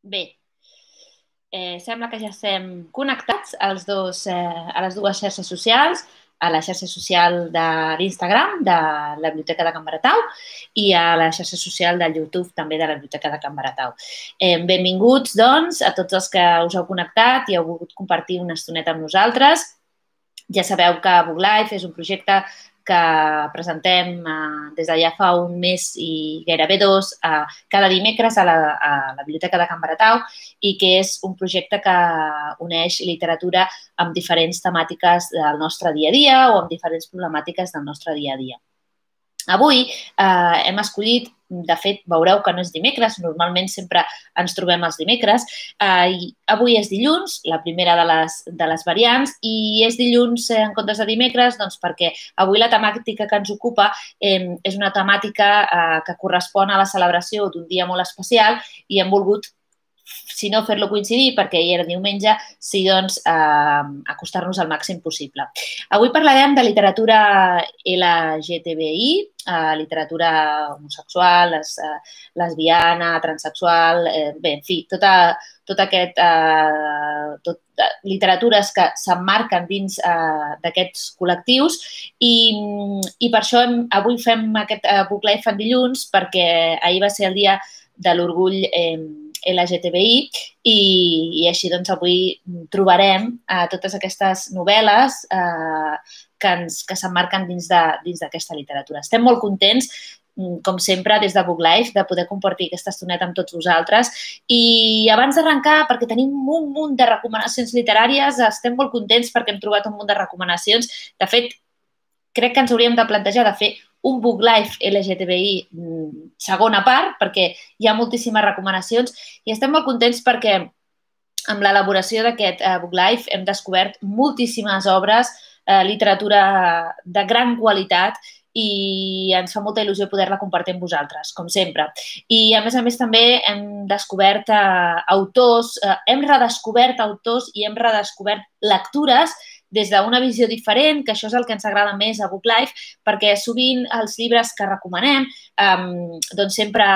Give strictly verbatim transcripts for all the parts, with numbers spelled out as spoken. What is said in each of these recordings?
Bé, eh, sembla que ja estem connectats als dos, eh, a les dues xarxes socials, a la xarxa social de l'Instagram, de la Biblioteca de Can Baratau, i a la xarxa social del YouTube, també de la Biblioteca de Can Baratau. Eh, benvinguts, doncs, a tots els que us heu connectat i heu volgut compartir una estoneta amb nosaltres. Ja sabeu que Book Life és un projecte que presentem eh, des de ja fa un mes i gairebé dos, eh, cada dimecres a la, a la Biblioteca de Can Baratau, i que és un projecte que uneix literatura amb diferents temàtiques del nostre dia a dia o amb diferents problemàtiques del nostre dia a dia. Avui eh, hem escollit, de fet, veureu que no és dimecres, normalment sempre ens trobem els dimecres, eh, i avui és dilluns, la primera de les, de les variants, i és dilluns eh, en comptes de dimecres doncs perquè avui la temàtica que ens ocupa eh, és una temàtica eh, que correspon a la celebració d'un dia molt especial i hem volgut, si no fer-lo coincidir, perquè hi era diumenge, sí, doncs, eh, acostar-nos al màxim possible. Avui parlarem de literatura L G T B I, eh, literatura homosexual, les, eh, lesbiana, transsexual, eh, bé, en fi, tota, tot aquest, eh, tot, eh, literatures que s'emmarquen dins eh, d'aquests col·lectius i, i per això hem, avui fem aquest eh, Book Life en dilluns, perquè ahir va ser el dia de l'orgull eh, L G T B I i, i així doncs avui trobarem eh, totes aquestes novel·les eh, que, ens, que s'emmarquen dins d'aquesta literatura. Estem molt contents, com sempre, des de Book Life, de poder compartir aquesta estoneta amb tots vosaltres. I abans d'arrencar, perquè tenim un munt de recomanacions literàries, estem molt contents perquè hem trobat un munt de recomanacions. De fet, crec que ens hauríem de plantejar de fer un Book Life L G T B I segona part, perquè hi ha moltíssimes recomanacions i estem molt contents perquè amb l'elaboració d'aquest Book Life hem descobert moltíssimes obres, eh, literatura de gran qualitat i ens fa molta il·lusió poder-la compartir amb vosaltres, com sempre. I, a més a més, també hem descobert eh, autors, eh, hem redescobert autors i hem redescobert lectures des d'una visió diferent, que això és el que ens agrada més a Book Life, perquè sovint els llibres que recomanem, eh, doncs sempre,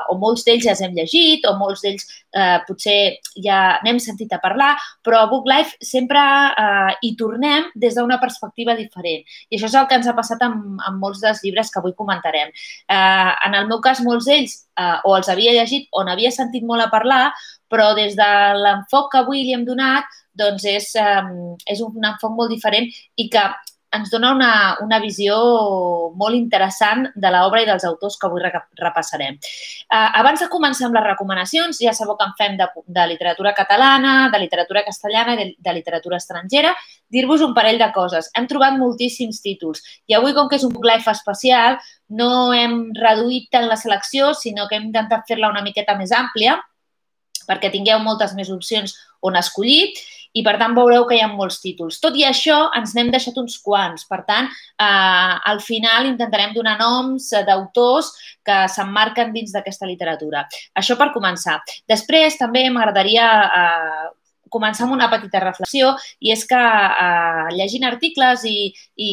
o molts d'ells ja els hem llegit, o molts d'ells eh, potser ja n'hem sentit a parlar, però a Book Life sempre eh, hi tornem des d'una perspectiva diferent. I això és el que ens ha passat amb, amb molts dels llibres que avui comentarem. Eh, en el meu cas, molts d'ells eh, o els havia llegit o n'havia sentit molt a parlar, però des de l'enfoc que avui li hem donat, doncs és, um, és un enfoc molt diferent i que ens dona una, una visió molt interessant de l'obra i dels autors que avui repassarem. Uh, abans de començar amb les recomanacions, ja sabeu que en fem de, de literatura catalana, de literatura castellana i de, de literatura estrangera, dir-vos un parell de coses. Hem trobat moltíssims títols i avui, com que és un Book Life especial, no hem reduït tant la selecció, sinó que hem intentat fer-la una miqueta més àmplia perquè tingueu moltes més opcions on escollir i, per tant, veureu que hi ha molts títols. Tot i això, ens n'hem deixat uns quants. Per tant, eh, al final intentarem donar noms d'autors que s'emmarquen dins d'aquesta literatura. Això per començar. Després, també m'agradaria eh, començar amb una petita reflexió i és que eh, llegint articles i, i,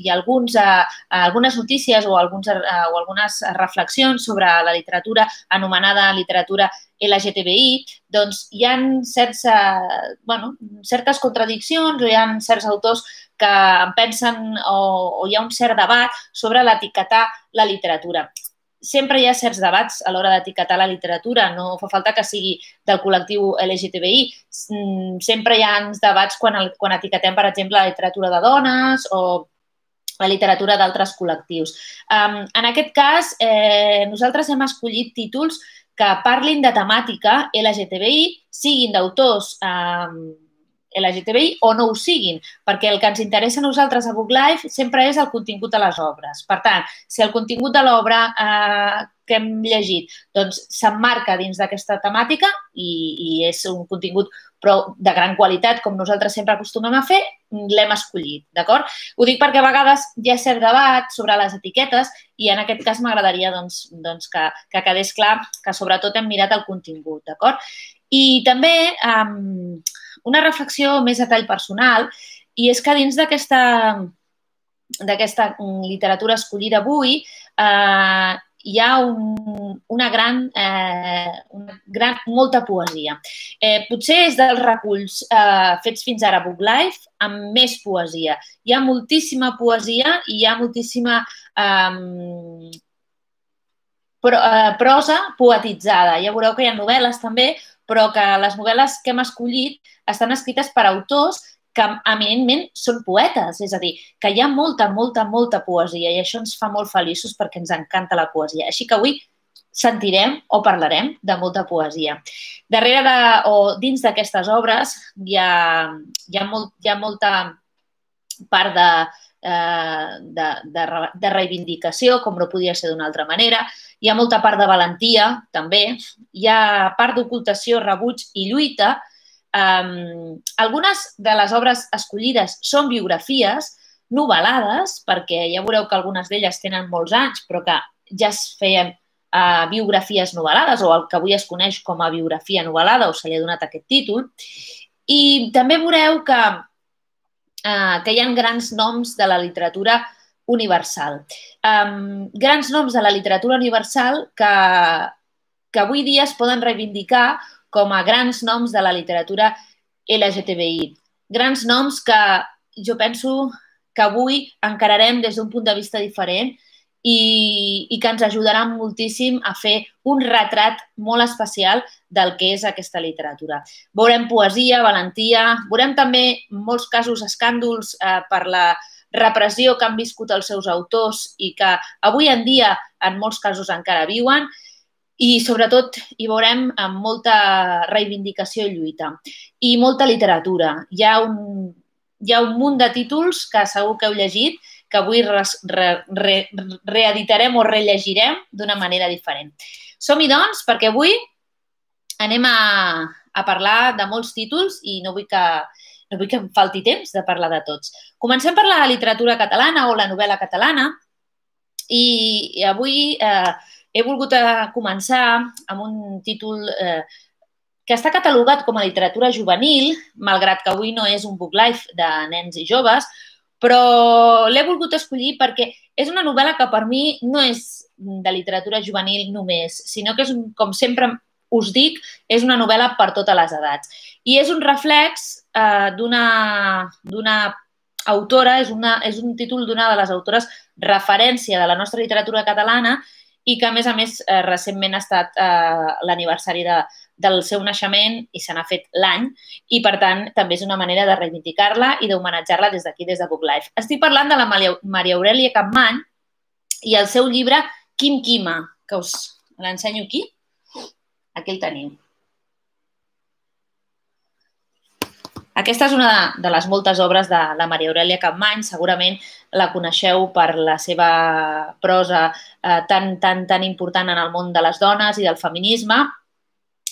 i alguns, eh, algunes notícies o, alguns, eh, o algunes reflexions sobre la literatura anomenada literatura L G T B I, doncs hi ha certs, eh, bueno, certes contradiccions o hi ha certs autors que pensen o, o hi ha un cert debat sobre l'etiquetar la literatura. Sempre hi ha certs debats a l'hora d'etiquetar la literatura, no fa falta que sigui del col·lectiu L G T B I. Sempre hi ha debats quan, el, quan etiquetem, per exemple, la literatura de dones o la literatura d'altres col·lectius. Um, en aquest cas, eh, nosaltres hem escollit títols que parlin de temàtica L G T B I, siguin d'autors eh, L G T B I o no ho siguin, perquè el que ens interessa a nosaltres a Book Life sempre és el contingut de les obres. Per tant, si el contingut de l'obra eh, que hem llegit doncs s'emmarca dins d'aquesta temàtica i, i és un contingut però de gran qualitat, com nosaltres sempre acostumem a fer, l'hem escollit, d'acord? Ho dic perquè a vegades hi ha cert debat sobre les etiquetes i en aquest cas m'agradaria doncs, doncs que, que quedés clar que sobretot hem mirat el contingut, d'acord? I també um, una reflexió més a tall personal i és que dins d'aquesta d'aquesta literatura escollida avui eh, hi ha un, una, gran, eh, una gran, molta poesia. Eh, potser és dels reculls eh, fets fins ara a Book Life amb més poesia. Hi ha moltíssima poesia i hi ha moltíssima eh, pro, eh, prosa poetitzada. Ja veureu que hi ha novel·les també, però que les novel·les que hem escollit estan escrites per autors que eminentment són poetes, és a dir, que hi ha molta, molta, molta poesia i això ens fa molt feliços perquè ens encanta la poesia. Així que avui sentirem o parlarem de molta poesia. Darrere de, o dins d'aquestes obres hi ha, hi ha, molt, hi ha molta part de, de, de, de reivindicació, com no podia ser d'una altra manera. Hi ha molta part de valentia, també. Hi ha part d'ocultació, rebuig i lluita. Um, algunes de les obres escollides són biografies novel·lades, perquè ja veureu que algunes d'elles tenen molts anys, però que ja es feien uh, biografies novel·lades, o el que avui es coneix com a biografia novel·lada, o se li ha donat aquest títol. I també veureu que, uh, que hi ha grans noms de la literatura universal. Um, grans noms de la literatura universal que, que avui dia es poden reivindicar com a grans noms de la literatura L G T B I. Grans noms que jo penso que avui encararem des d'un punt de vista diferent i, i que ens ajudaran moltíssim a fer un retrat molt especial del que és aquesta literatura. Veurem poesia, valentia, veurem també en molts casos escàndols eh, per la repressió que han viscut els seus autors i que avui en dia en molts casos encara viuen. I, sobretot, hi veurem amb molta reivindicació i lluita. I molta literatura. Hi ha un, hi ha un munt de títols que segur que heu llegit, que avui re, re, re, reeditarem o rellegirem d'una manera diferent. Som-hi, doncs, perquè avui anem a, a parlar de molts títols i no vull que, no vull que em falti temps de parlar de tots. Comencem per la literatura catalana o la novel·la catalana i, i avui... Eh, He volgut començar amb un títol eh, que està catalogat com a literatura juvenil, malgrat que avui no és un book life de nens i joves, però l'he volgut escollir perquè és una novel·la que per mi no és de literatura juvenil només, sinó que és, com sempre us dic, és una novel·la per totes les edats. I és un reflex eh, d'una autora, és, una, és un títol d'una de les autores referència de la nostra literatura catalana i que, a més a més, eh, recentment ha estat eh, l'aniversari de, del seu naixement i se n'ha fet l'any i, per tant, també és una manera de reivindicar-la i d'homenatjar-la des d'aquí, des de Book Life. Estic parlant de la Maria Aurèlia Capmany i el seu llibre Quim Quima, que us l'ensenyo aquí. Aquí el teniu. Aquesta és una de les moltes obres de la Maria Aurèlia Capmany. Segurament la coneixeu per la seva prosa eh, tan, tan, tan important en el món de les dones i del feminisme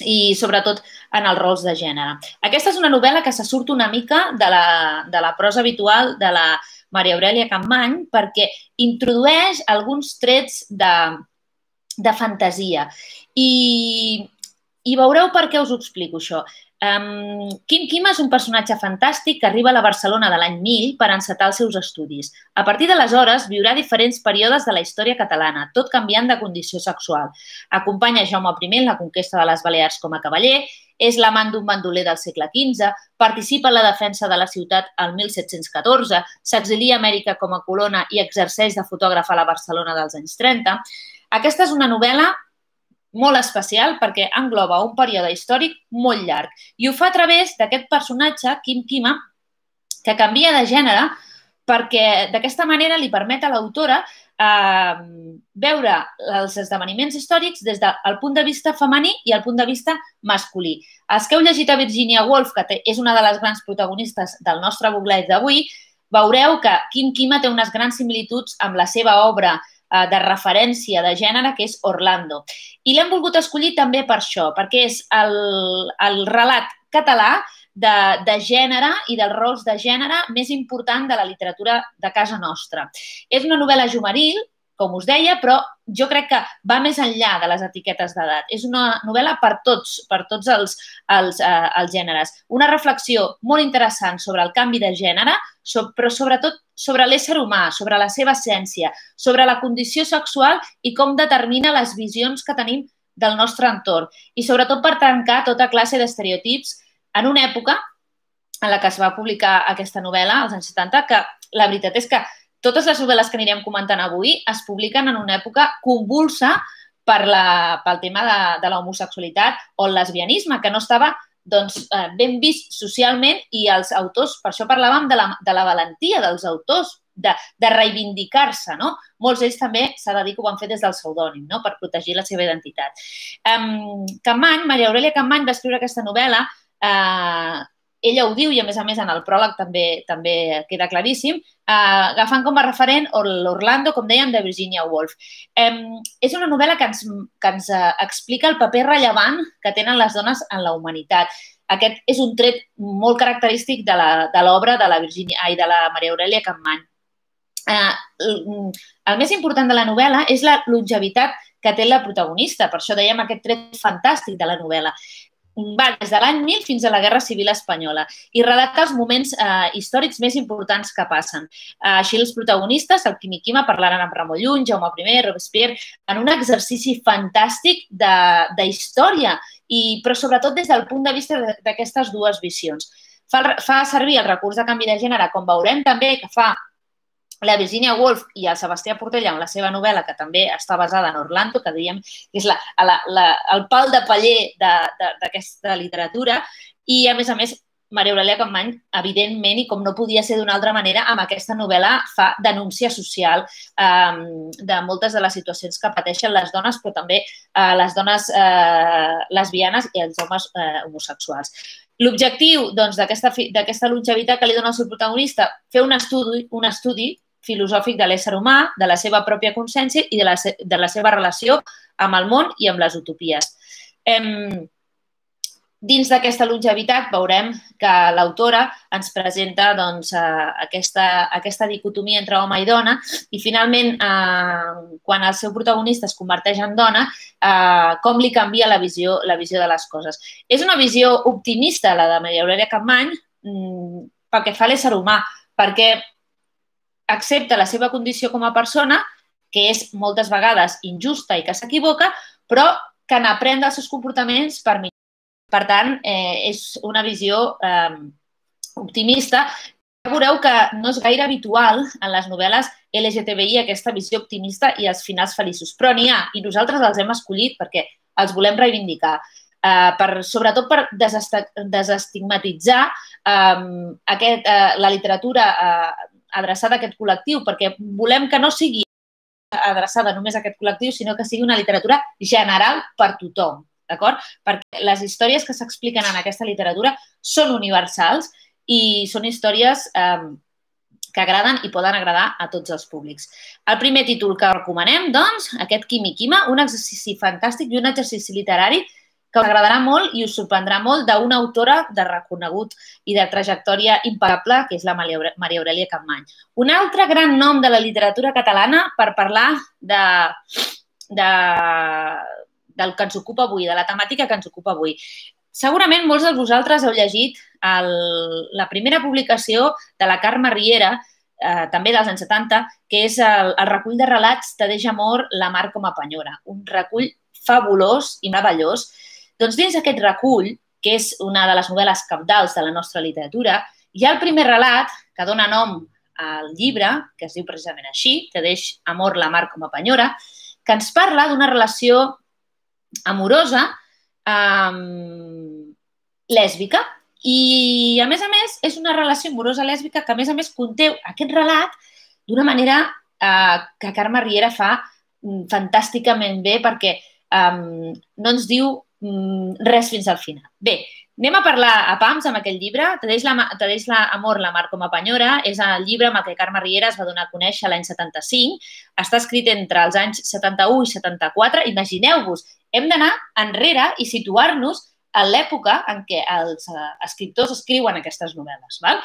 i, sobretot, en els rols de gènere. Aquesta és una novel·la que se surt una mica de la, de la prosa habitual de la Maria Aurèlia Capmany perquè introdueix alguns trets de, de fantasia. I, I veureu per què us ho explico, això. Um, Quim Quima és un personatge fantàstic que arriba a la Barcelona de l'any mil per encetar els seus estudis. A partir d'aleshores viurà diferents períodes de la història catalana, tot canviant de condició sexual. Acompanya Jaume primer en la conquesta de les Balears com a cavaller, és l'amant d'un bandoler del segle quinze, participa en la defensa de la ciutat al mil set-cents catorze, s'exilia a Amèrica com a colona i exerceix de fotògraf a la Barcelona dels anys trenta. Aquesta és una novel·la molt especial perquè engloba un període històric molt llarg i ho fa a través d'aquest personatge, Quim Quima, que canvia de gènere perquè d'aquesta manera li permet a l'autora eh, veure els esdeveniments històrics des del punt de vista femení i el punt de vista masculí. Els que heu llegit a Virginia Woolf, que és una de les grans protagonistes del nostre book live d'avui, veureu que Quim Quima té unes grans similituds amb la seva obra de referència de gènere, que és Orlando. I l'hem volgut escollir també per això, perquè és el, el relat català de, de gènere i dels rols de gènere més important de la literatura de casa nostra. És una novel·la juvenil, com us deia, però jo crec que va més enllà de les etiquetes d'edat. És una novel·la per tots, per tots els, els, eh, els gèneres. Una reflexió molt interessant sobre el canvi de gènere, però sobretot sobre l'ésser humà, sobre la seva essència, sobre la condició sexual i com determina les visions que tenim del nostre entorn. I sobretot per trencar tota classe d'estereotips en una època en la que es va publicar aquesta novel·la, als anys setanta, que la veritat és que totes les novel·les que anirem comentant avui es publiquen en una època convulsa per la, pel tema de, de l'homosexualitat o el lesbianisme, que no estava doncs, ben vist socialment, i els autors, per això parlàvem de la, de la valentia dels autors, de, de reivindicar-se, no? Molts d'ells també s'ha de dir que ho van fer des del pseudònim, no? Per protegir la seva identitat. Um, Capmany, Maria Aurèlia Capmany va escriure aquesta novel·la, eh, ella ho diu i, a més a més, en el pròleg també també queda claríssim, eh, agafant com a referent l'Orlando, com dèiem, de Virginia Woolf. Eh, és una novel·la que ens, que ens explica el paper rellevant que tenen les dones en la humanitat. Aquest és un tret molt característic de l'obra de, de la Virginia, ai, de la Maria Aurèlia Capmany. Eh, el, el més important de la novel·la és la longevitat que té la protagonista, per això dèiem aquest tret fantàstic de la novel·la. Va des de l'any mil fins a la Guerra Civil Espanyola i relata els moments eh, històrics més importants que passen. Eh, així els protagonistes, el Quim i Quima, parlaran amb Ramon Llull, Jaume I, Robespierre, en un exercici fantàstic de, de història, i, però sobretot des del punt de vista d'aquestes dues visions. Fa, fa servir el recurs de canvi de gènere, com veurem també que fa la Virginia Woolf i el Sebastià Portella en la seva novel·la, que també està basada en Orlando, que dèiem que és la, la, la, el pal de paller d'aquesta literatura, i, a més a més, Maria Aurèlia Capmany, evidentment, i com no podia ser d'una altra manera, amb aquesta novel·la fa denúncia social eh, de moltes de les situacions que pateixen les dones, però també eh, les dones eh, lesbianes i els homes eh, homosexuals. L'objectiu doncs, d'aquesta longevitat que li dona el seu protagonista, fer un estudi, un estudi filosòfic de l'ésser humà, de la seva pròpia consciència i de la, de la seva relació amb el món i amb les utopies. Eh, dins d'aquesta longevitat veurem que l'autora ens presenta doncs, eh, aquesta, aquesta dicotomia entre home i dona, i finalment, eh, quan el seu protagonista es converteix en dona, eh, com li canvia la visió, la visió de les coses. És una visió optimista, la de Maria Aurèlia Capmany, mm, pel que fa a l'ésser humà, perquè accepta la seva condició com a persona, que és moltes vegades injusta i que s'equivoca, però que n'aprèn dels seus comportaments per millorar. Per tant, eh, és una visió eh, optimista. Veureu que no és gaire habitual en les novel·les L G T B I aquesta visió optimista i els finals feliços, però n'hi ha, i nosaltres els hem escollit perquè els volem reivindicar. Uh, per, sobretot per desestigmatitzar um, aquest, uh, la literatura uh, adreçada a aquest col·lectiu, perquè volem que no sigui adreçada només a aquest col·lectiu, sinó que sigui una literatura general per tothom, d'acord? Perquè les històries que s'expliquen en aquesta literatura són universals i són històries eh, que agraden i poden agradar a tots els públics. El primer títol que recomanem, doncs, aquest Quim i Quima, un exercici fantàstic i un exercici literari que us agradarà molt i us sorprendrà molt d'una autora de reconegut i de trajectòria impecable, que és la Maria Aurèlia Capmany. Un altre gran nom de la literatura catalana per parlar de, de, del que ens ocupa avui, de la temàtica que ens ocupa avui. Segurament molts de vosaltres heu llegit el, la primera publicació de la Carme Riera, eh, també dels anys setanta, que és el, el recull de relats Te deixa amor, la mar com a penyora. Un recull fabulós i meravellós. Doncs dins aquest recull, que és una de les novel·les cabdals de la nostra literatura, hi ha el primer relat que dona nom al llibre, que es diu precisament així, Te deixa amor, la mar com a penyora, que ens parla d'una relació amorosa eh, lèsbica. I, a més a més, és una relació amorosa lèsbica que, a més a més, conté aquest relat d'una manera eh, que Carme Riera fa fantàsticament bé, perquè eh, no ens diu res fins al final. Bé, anem a parlar a pams amb aquest llibre. Te deixa amor, la mar com a penyora. És el llibre amb el que Carme Riera es va donar a conèixer l'any setanta-cinc. Està escrit entre els anys setanta-u i setanta-quatre. Imagineu-vos, hem d'anar enrere i situar-nos a l'època en què els escriptors escriuen aquestes novel·les. Val?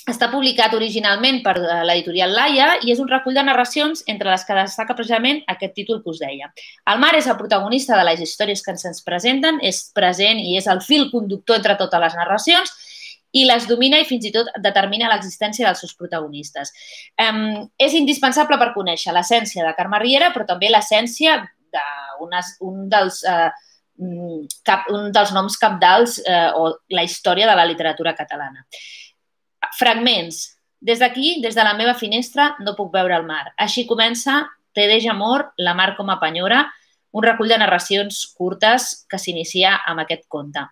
Està publicat originalment per l'editorial Laia i és un recull de narracions entre les que destaca precisament aquest títol que us deia. El mar és el protagonista de les històries que se'ns presenten, és present i és el fil conductor entre totes les narracions i les domina i fins i tot determina l'existència dels seus protagonistes. Um, és indispensable per conèixer l'essència de Carme Riera, però també l'essència d'un dels, uh, cap, un dels noms cabdals uh, o la història de la literatura catalana. Fragments. Des d'aquí, des de la meva finestra, no puc veure el mar. Així comença Te deja amor, la mar com a penyora, un recull de narracions curtes que s'inicia amb aquest conte.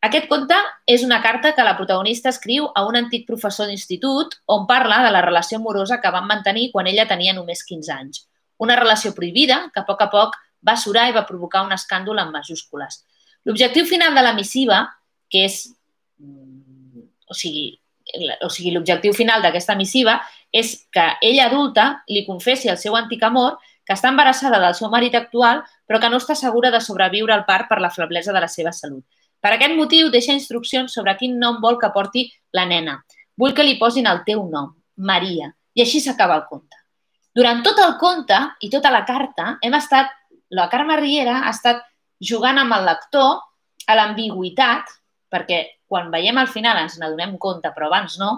Aquest conte és una carta que la protagonista escriu a un antic professor d'institut on parla de la relació amorosa que van mantenir quan ella tenia només quinze anys. Una relació prohibida que a poc a poc va surar i va provocar un escàndol en majúscules. L'objectiu final de la missiva, que és, o sigui, o sigui, l'objectiu final d'aquesta missiva és que ella adulta li confessi al seu antic amor que està embarassada del seu marit actual però que no està segura de sobreviure al part per la feblesa de la seva salut. Per aquest motiu deixa instruccions sobre quin nom vol que porti la nena. Vull que li posin el teu nom, Maria, i així s'acaba el conte. Durant tot el conte i tota la carta hem estat, la Carme Riera ha estat jugant amb el lector a l'ambigüitat, perquè quan veiem al final ens n'adonem compte, però abans no,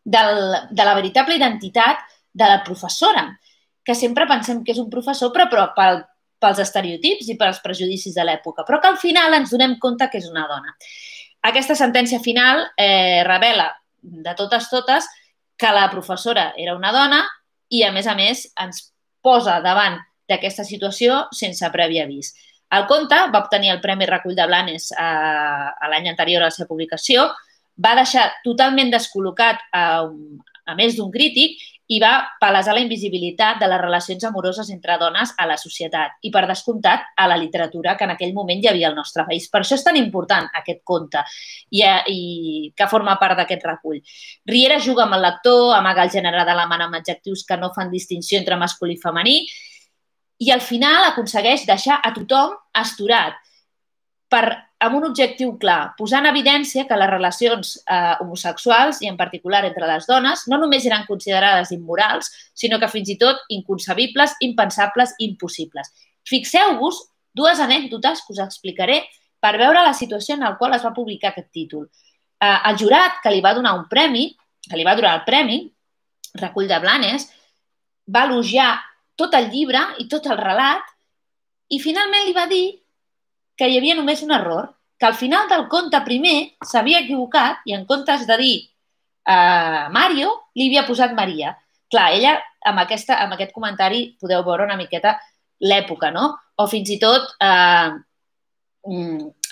del, de la veritable identitat de la professora, que sempre pensem que és un professor, però, però pel, pels estereotips i pels prejudicis de l'època, però que al final ens donem compte que és una dona. Aquesta sentència final eh, revela de totes totes que la professora era una dona i, a més a més, ens posa davant d'aquesta situació sense previ avís. El conte va obtenir el Premi Recull de Blanes a, a l'any anterior a la seva publicació, va deixar totalment descol·locat a, a més d'un crític i va palesar la invisibilitat de les relacions amoroses entre dones a la societat i, per descomptat, a la literatura que en aquell moment hi havia al nostre país. Per això és tan important aquest conte i, i que forma part d'aquest recull. Riera juga amb el lector, amaga el gènere de la mà amb adjectius que no fan distinció entre masculí i femení i al final aconsegueix deixar a tothom astorat per, amb un objectiu clar, posar en evidència que les relacions eh, homosexuals, i en particular entre les dones, no només eren considerades immorals, sinó que fins i tot inconcebibles, impensables, impossibles. Fixeu-vos dues anècdotes que us explicaré per veure la situació en la qual es va publicar aquest títol. Eh, el jurat que li va donar un premi, que li va donar el premi, Recull de Blanes, va elogiar tot el llibre i tot el relat i finalment li va dir que hi havia només un error, que al final del conte primer s'havia equivocat i en comptes de dir eh, Mario, li havia posat Maria. Clar, ella amb, aquesta, amb aquest comentari podeu veure una miqueta l'època, no? O fins i tot eh,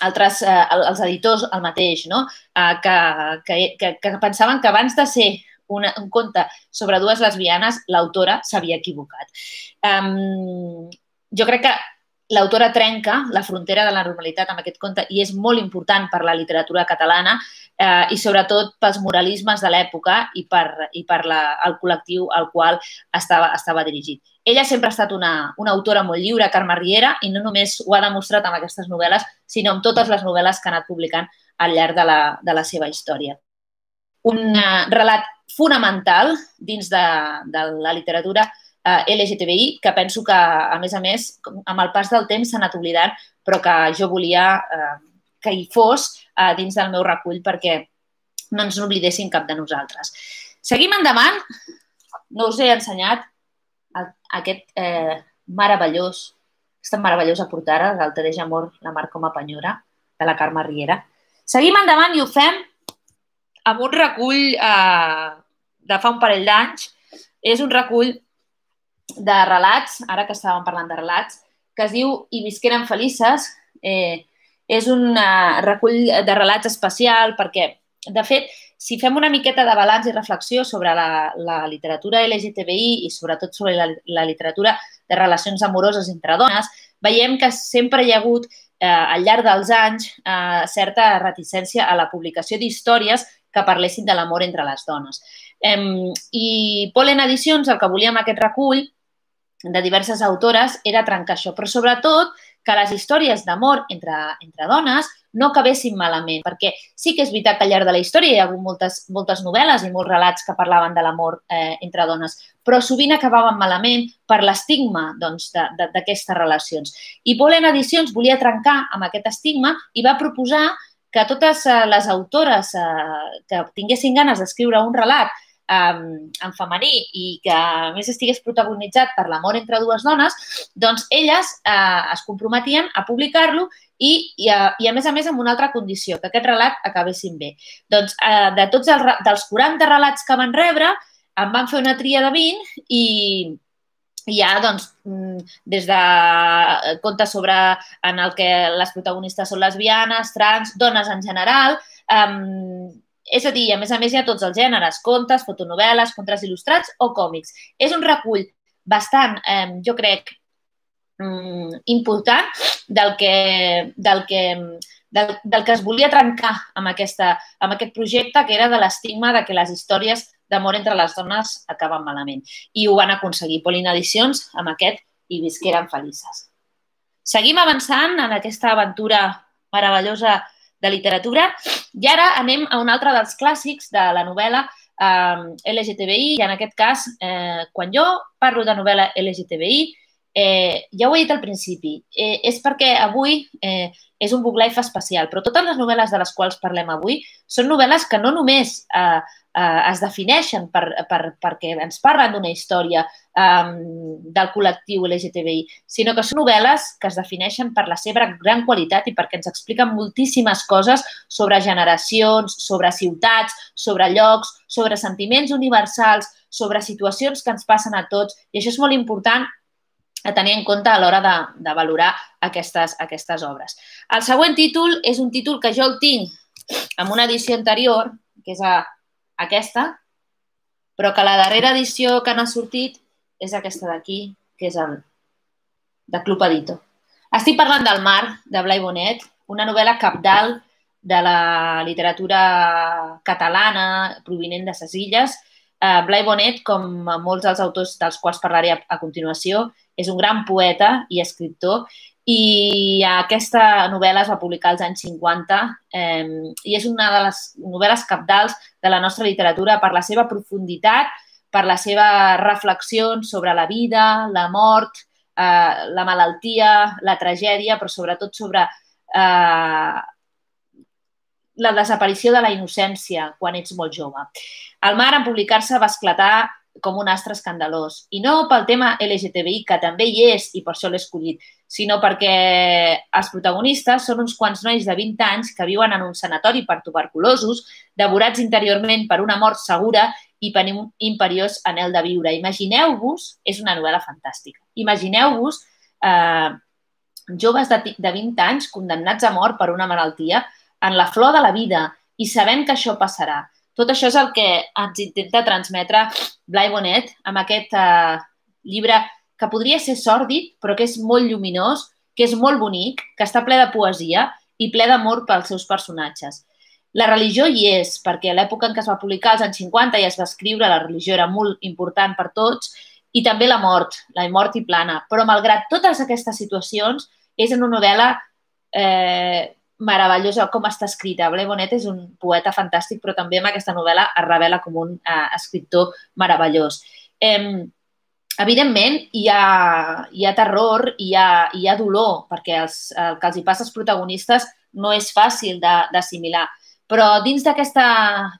altres, eh, els editors el mateix, no? Eh, que, que, que, que pensaven que abans de ser Una, un conte sobre dues lesbianes, l'autora s'havia equivocat. Um, jo crec que l'autora trenca la frontera de la normalitat amb aquest conte i és molt important per la literatura catalana eh, i sobretot pels moralismes de l'època i per, i per la, el col·lectiu al qual estava, estava dirigit. Ella sempre ha estat una, una autora molt lliure, Carme Riera, i no només ho ha demostrat amb aquestes novel·les, sinó amb totes les novel·les que ha anat publicant al llarg de la, de la seva història. Un uh, relat fonamental dins de, de la literatura uh, L G T B I, que penso que, a més a més, amb el pas del temps s'ha anat oblidant, però que jo volia uh, que hi fos uh, dins del meu recull perquè no ens n'oblidessin cap de nosaltres. Seguim endavant. No us he ensenyat aquest eh, meravellós, aquesta meravellosa portada del Te deja amor, la mar com a penyora, de la Carme Riera. Seguim endavant i ho fem amb un recull eh, de fa un parell d'anys. És un recull de relats, ara que estàvem parlant de relats, que es diu I visqueren felices. Eh, és un eh, recull de relats especial perquè, de fet, si fem una miqueta de balanç i reflexió sobre la, la literatura L G T B I i sobretot sobre la, la literatura de relacions amoroses entre dones, veiem que sempre hi ha hagut, eh, al llarg dels anys, eh, certa reticència a la publicació d'històries que parlessin de l'amor entre les dones. Eh, I Polen Edicions, el que volia amb aquest recull de diverses autores era trencar això, però sobretot que les històries d'amor entre, entre dones no acabessin malament, perquè sí que és veritat que al llarg de la història hi ha hagut moltes, moltes novel·les i molts relats que parlaven de l'amor eh, entre dones, però sovint acabaven malament per l'estigma doncs, d'aquestes relacions. I Pollen Edicions volia trencar amb aquest estigma i va proposar que totes les autores eh, que tinguessin ganes d'escriure un relat en femení i que a més estigués protagonitzat per l'amor entre dues dones, doncs elles eh, es comprometien a publicar-lo i, i, a, i a més a més amb una altra condició, que aquest relat acabessin bé. Doncs eh, de tots els, dels quaranta relats que van rebre, en van fer una tria de vint i hi ha doncs, des de contes sobre en el que les protagonistes són lesbianes, trans, dones en general, eh, és a dir, a més a més hi ha tots els gèneres, contes, fotonovel·les, contes il·lustrats o còmics. És un recull bastant, eh, jo crec, important del que, del que, del, del que es volia trencar amb, aquesta, amb aquest projecte, que era de l'estigma de que les històries d'amor entre les dones acaben malament. I ho van aconseguir. Pollen Edicions, amb aquest, i visqueren felices. Seguim avançant en aquesta aventura meravellosa de literatura i ara anem a un altre dels clàssics de la novel·la eh, L G T B I i en aquest cas, eh, quan jo parlo de novel·la L G T B I, eh, ja ho he dit al principi, eh, és perquè avui eh, és un book life especial, però totes les novel·les de les quals parlem avui són novel·les que no només eh, eh, es defineixen per, per, perquè ens parlen d'una història eh, del col·lectiu L G T B I, sinó que són novel·les que es defineixen per la seva gran qualitat i perquè ens expliquen moltíssimes coses sobre generacions, sobre ciutats, sobre llocs, sobre sentiments universals, sobre situacions que ens passen a tots, i això és molt important a tenir en compte a l'hora de, de valorar aquestes, aquestes obres. El següent títol és un títol que jo el tinc en una edició anterior, que és a, aquesta, però que la darrera edició que n'ha sortit és aquesta d'aquí, que és el de Club Edito. Estic parlant del Mar, de Blai Bonet, una novel·la cabdal de la literatura catalana provinent de ses illes. Uh, Blai Bonet, com molts dels autors dels quals parlaré a, a continuació, és un gran poeta i escriptor i aquesta novel·la es va publicar als anys cinquanta eh, i és una de les novel·les cabdals de la nostra literatura per la seva profunditat, per les seves reflexions sobre la vida, la mort, eh, la malaltia, la tragèdia, però sobretot sobre eh, la desaparició de la innocència quan ets molt jove. El Mar, en publicar-se, va esclatar com un astre escandalós. I no pel tema L G T B I, que també hi és i per això l'he escollit, sinó perquè els protagonistes són uns quants nois de vint anys que viuen en un sanatori per tuberculosos, devorats interiorment per una mort segura i per un imperiós anhel de viure. Imagineu-vos, és una novel·la fantàstica, imagineu-vos eh, joves de, de vint anys condemnats a mort per una malaltia en la flor de la vida i sabent que això passarà. Tot això és el que ens intenta transmetre Blai Bonet amb aquest eh, llibre que podria ser sòrdid, però que és molt lluminós, que és molt bonic, que està ple de poesia i ple d'amor pels seus personatges. La religió hi és, perquè a l'època en què es va publicar, als anys cinquanta, i es va escriure, la religió era molt important per tots, i també la mort, la mort i plana. Però malgrat totes aquestes situacions, és una novel·la eh, meravellosa com està escrita. Blai Bonet és un poeta fantàstic, però també amb aquesta novel·la es revela com un eh, escriptor meravellós. Eh, evidentment, hi ha, hi ha terror, hi ha, hi ha dolor, perquè els, el que els hi passa als protagonistes no és fàcil d'assimilar. Però dins d'aquesta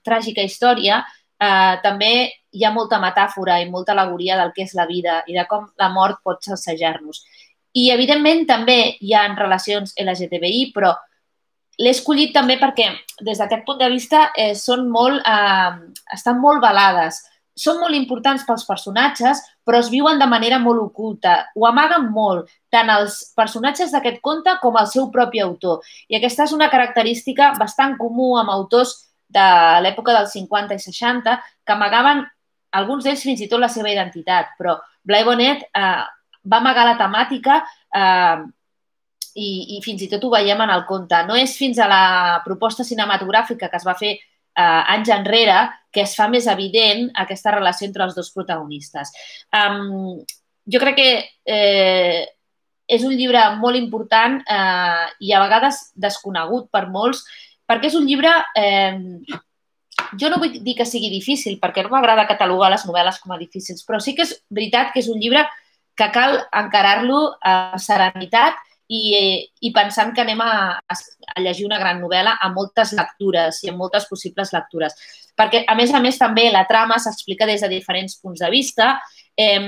tràgica història eh, també hi ha molta metàfora i molta alegoria del que és la vida i de com la mort pot salsejar-nos. I, evidentment, també hi ha relacions L G T B I, però l'he escollit també perquè, des d'aquest punt de vista, eh, són molt, eh, estan molt velades. Són molt importants pels personatges, però es viuen de manera molt oculta. Ho amaguen molt, tant els personatges d'aquest conte com el seu propi autor. I aquesta és una característica bastant comú amb autors de l'època dels cinquanta i seixanta, que amagaven, alguns d'ells fins i tot la seva identitat. Però Blai Bonet eh, va amagar la temàtica eh, I, i fins i tot ho veiem en el conte. No és fins a la proposta cinematogràfica que es va fer eh, anys enrere que es fa més evident aquesta relació entre els dos protagonistes. Um, jo crec que eh, és un llibre molt important eh, i a vegades desconegut per molts, perquè és un llibre... Eh, jo no vull dir que sigui difícil, perquè no m'agrada catalogar les novel·les com a difícils, però sí que és veritat que és un llibre que cal encarar-lo amb serenitat i, i pensant que anem a, a llegir una gran novel·la amb moltes lectures i amb moltes possibles lectures. Perquè, a més a més, també la trama s'explica des de diferents punts de vista eh,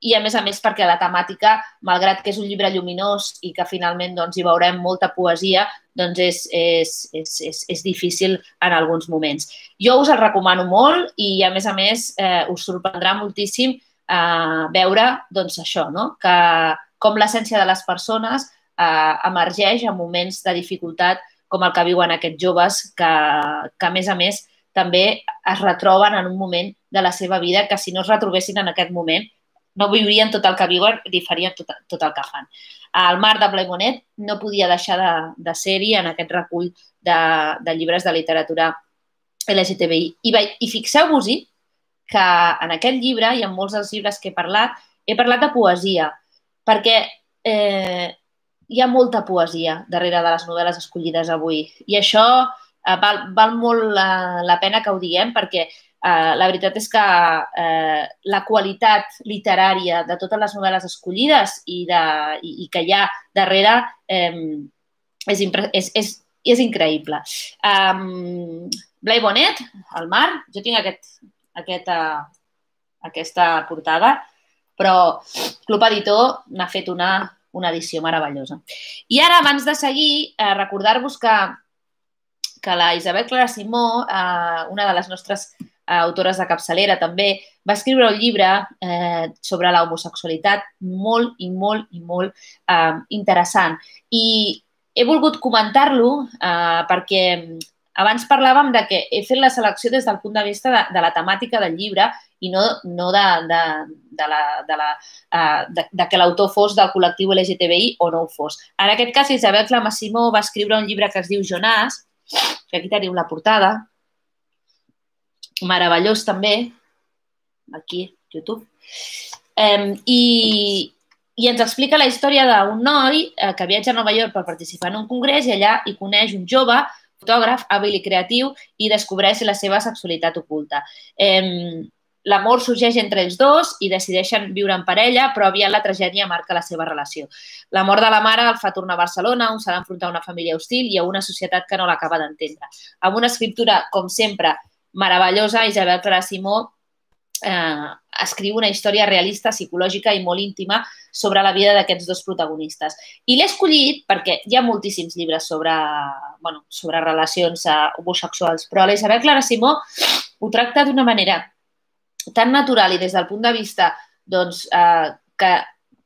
i, a més a més, perquè la temàtica, malgrat que és un llibre lluminós i que finalment doncs, hi veurem molta poesia, doncs és, és, és, és, és difícil en alguns moments. Jo us el recomano molt i, a més a més, eh, us sorprendrà moltíssim eh, veure doncs, això, no? Que com l'essència de les persones eh, emergeix en moments de dificultat com el que viuen aquests joves que, que, a més a més, també es retroben en un moment de la seva vida que si no es retrobessin en aquest moment no viurien tot el que viuen i farien tot, tot el que fan. El Mar de Blai Bonet no podia deixar de, de ser-hi en aquest recull de, de llibres de literatura L G T B I. I, i fixeu-vos-hi que en aquest llibre i en molts dels llibres que he parlat, he parlat de poesia, perquè eh, hi ha molta poesia darrere de les novel·les escollides avui. I això eh, val, val molt la, la pena que ho diguem, perquè Uh, la veritat és que uh, la qualitat literària de totes les novel·les escollides i, de, i, i que hi ha darrere um, és, és, és, és increïble. Um, Blai Bonet, El Mar, jo tinc aquest, aquest, uh, aquesta portada, però Club Editor n'ha fet una, una edició meravellosa. I ara, abans de seguir, uh, recordar-vos que, que la Isabel Clara Simó, uh, una de les nostres autores de capçalera també, va escriure un llibre eh, sobre la homosexualitat molt i molt i molt eh, interessant. I he volgut comentar-lo eh, perquè abans parlàvem de que he fet la selecció des del punt de vista de, de la temàtica del llibre i no, no de, de, de, la, de, la, uh, de, de que l'autor fos del col·lectiu L G T B I o no ho fos. En aquest cas, Isabel Clara Simó va escriure un llibre que es diu Jonàs, que aquí teniu la portada, meravellós també, aquí, YouTube, eh, i, i ens explica la història d'un noi eh, que viatja a Nova York per participar en un congrés i allà hi coneix un jove fotògraf hàbil i creatiu i descobreix la seva sexualitat oculta. Eh, L'amor sorgeix entre ells dos i decideixen viure en parella, però aviat la tragèdia marca la seva relació. La mort de la mare el fa tornar a Barcelona, on s'ha d'enfrontar a una família hostil i a una societat que no l'acaba d'entendre. Amb una escriptura, com sempre, meravellosa, Isabel Clara Simó eh, escriu una història realista, psicològica i molt íntima sobre la vida d'aquests dos protagonistes. I l'he escollit perquè hi ha moltíssims llibres sobre, bueno, sobre relacions eh, homosexuals, però la Isabel Clara Simó ho tracta d'una manera tan natural i des del punt de vista doncs, eh, que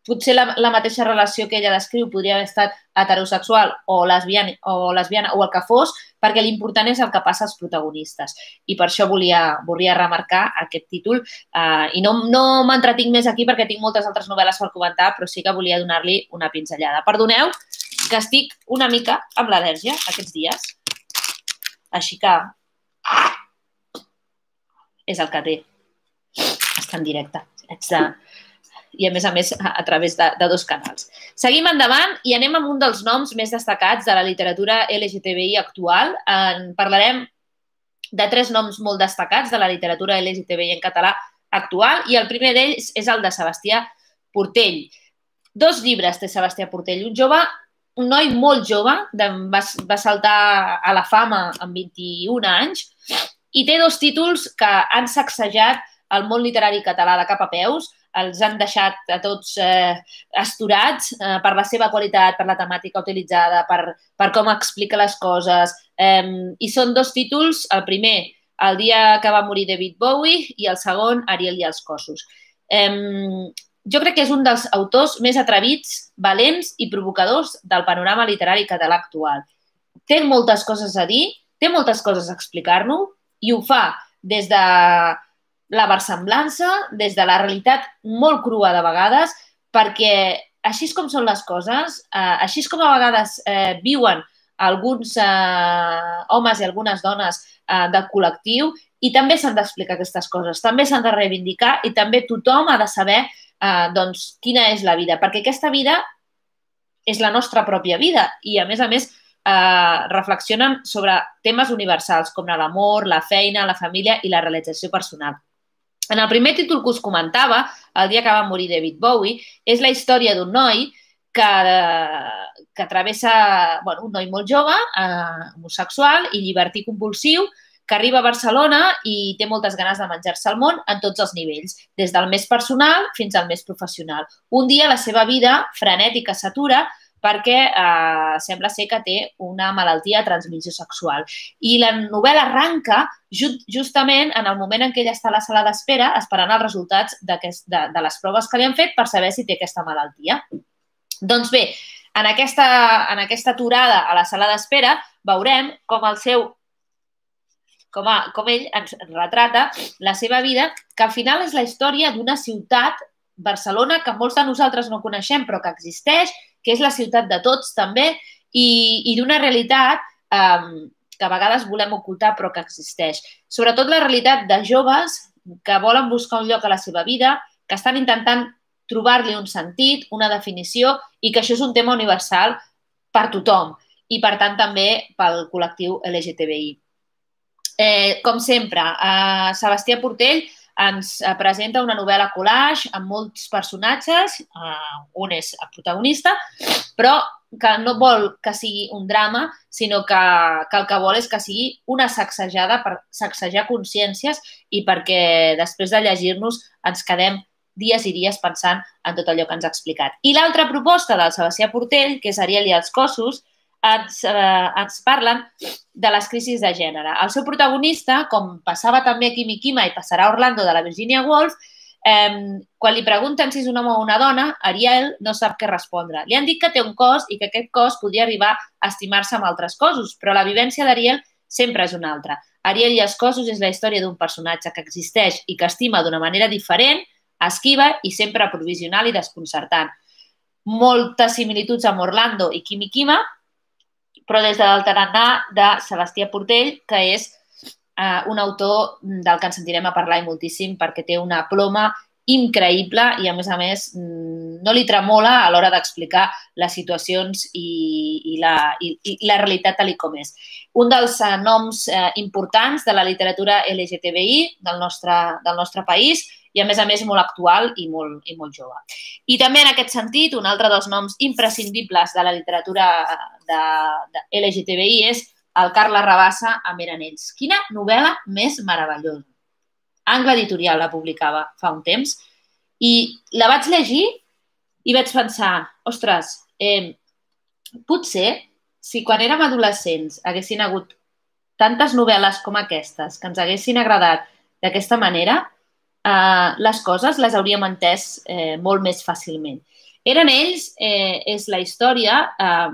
potser la, la mateixa relació que ella descriu podria haver estat heterosexual o lesbiana, o lesbiana o el que fos, perquè l'important és el que passa als protagonistes. I per això volia, volia remarcar aquest títol. Uh, I no, no m'entretinc més aquí perquè tinc moltes altres novel·les per comentar, però sí que volia donar-li una pinzellada. Perdoneu que estic una mica amb l'al·lèrgia aquests dies. Així que és el que té. Està en directe. Haig de... i, a més a més, a través de, de dos canals. Seguim endavant i anem amb un dels noms més destacats de la literatura L G T B I actual. En parlarem de tres noms molt destacats de la literatura L G T B I en català actual i el primer d'ells és el de Sebastià Portell. Dos llibres té Sebastià Portell. Un jove, un noi molt jove, va, va saltar a la fama amb vint-i-un anys i té dos títols que han sacsejat el món literari català de cap a peus, els han deixat a tots eh, astorats eh, per la seva qualitat, per la temàtica utilitzada, per, per com explica les coses. Eh, I són dos títols, el primer, El dia que va morir David Bowie, i el segon, Ariel i els cossos. Eh, jo crec que és un dels autors més atrevits, valents i provocadors del panorama literari català actual. Té moltes coses a dir, té moltes coses a explicar-nos i ho fa des de la versemblança, des de la realitat molt crua de vegades, perquè així com són les coses, eh, així com a vegades eh, viuen alguns eh, homes i algunes dones eh, del col·lectiu, i també s'han d'explicar aquestes coses, també s'han de reivindicar i també tothom ha de saber doncs, quina és la vida. Perquè aquesta vida és la nostra pròpia vida i, a més a més, reflexionen sobre temes universals com l'amor, la feina, la família i la realització personal. En el primer títol que us comentava, el dia que va morir David Bowie, és la història d'un noi que, que travessa, bueno, un noi molt jove, eh, homosexual i llibertí compulsiu, que arriba a Barcelona i té moltes ganes de menjar-se el món en tots els nivells, des del més personal fins al més professional. Un dia la seva vida frenètica s'atura perquè eh, sembla ser que té una malaltia de transmissió sexual. I la novel·la arranca just, justament en el moment en què ella està a la sala d'espera esperant els resultats de, de les proves que li han fet per saber si té aquesta malaltia. Doncs bé, en aquesta, en aquesta aturada a la sala d'espera veurem com el seu Com, a, com ell ens retrata la seva vida, que al final és la història d'una ciutat, Barcelona, que molts de nosaltres no coneixem, però que existeix, que és la ciutat de tots també, i, i d'una realitat eh, que a vegades volem ocultar però que existeix. Sobretot la realitat de joves que volen buscar un lloc a la seva vida, que estan intentant trobar-li un sentit, una definició, i que això és un tema universal per tothom, i per tant també pel col·lectiu L G T B I. Eh, com sempre, eh, Sebastià Portell ens presenta una novel·la collage amb molts personatges, eh, un és el protagonista, però que no vol que sigui un drama, sinó que, que el que vol és que sigui una sacsejada per sacsejar consciències i perquè després de llegir-nos ens quedem dies i dies pensant en tot allò que ens ha explicat. I l'altra proposta del Sebastià Portell, que és Ariel i els cossos, Ens, eh, ens parlen de les crisis de gènere. El seu protagonista, com passava també a Kimi Kima i passarà a Orlando de la Virginia Woolf, eh, quan li pregunten si és un home o una dona, Ariel no sap què respondre. Li han dit que té un cos i que aquest cos podria arribar a estimar-se amb altres cossos, però la vivència d'Ariel sempre és una altra. Ariel i els cossos és la història d'un personatge que existeix i que estima d'una manera diferent, esquiva i sempre provisional i desconcertant. Moltes similituds amb Orlando i Kimi Kima, però des del tarannà de Sebastià Portell, que és eh, un autor del que ens sentirem a parlar moltíssim perquè té una ploma increïble i, a més a més, no li tremola a l'hora d'explicar les situacions i, i, la, i, i la realitat tal com és. Un dels eh, noms eh, importants de la literatura L G T B I del nostre, del nostre país i, a més a més, molt actual i molt, i molt jove. I també, en aquest sentit, un altre dels noms imprescindibles de la literatura de, de L G T B I és el Carles Rabassa amb Eren ells. Quina novel·la més meravellosa. Angle Editorial la publicava fa un temps i la vaig llegir i vaig pensar, ostres, eh, potser si quan érem adolescents haguessin hagut tantes novel·les com aquestes que ens haguessin agradat d'aquesta manera, Uh, les coses les hauríem entès eh, molt més fàcilment. Eren ells eh, és la història uh,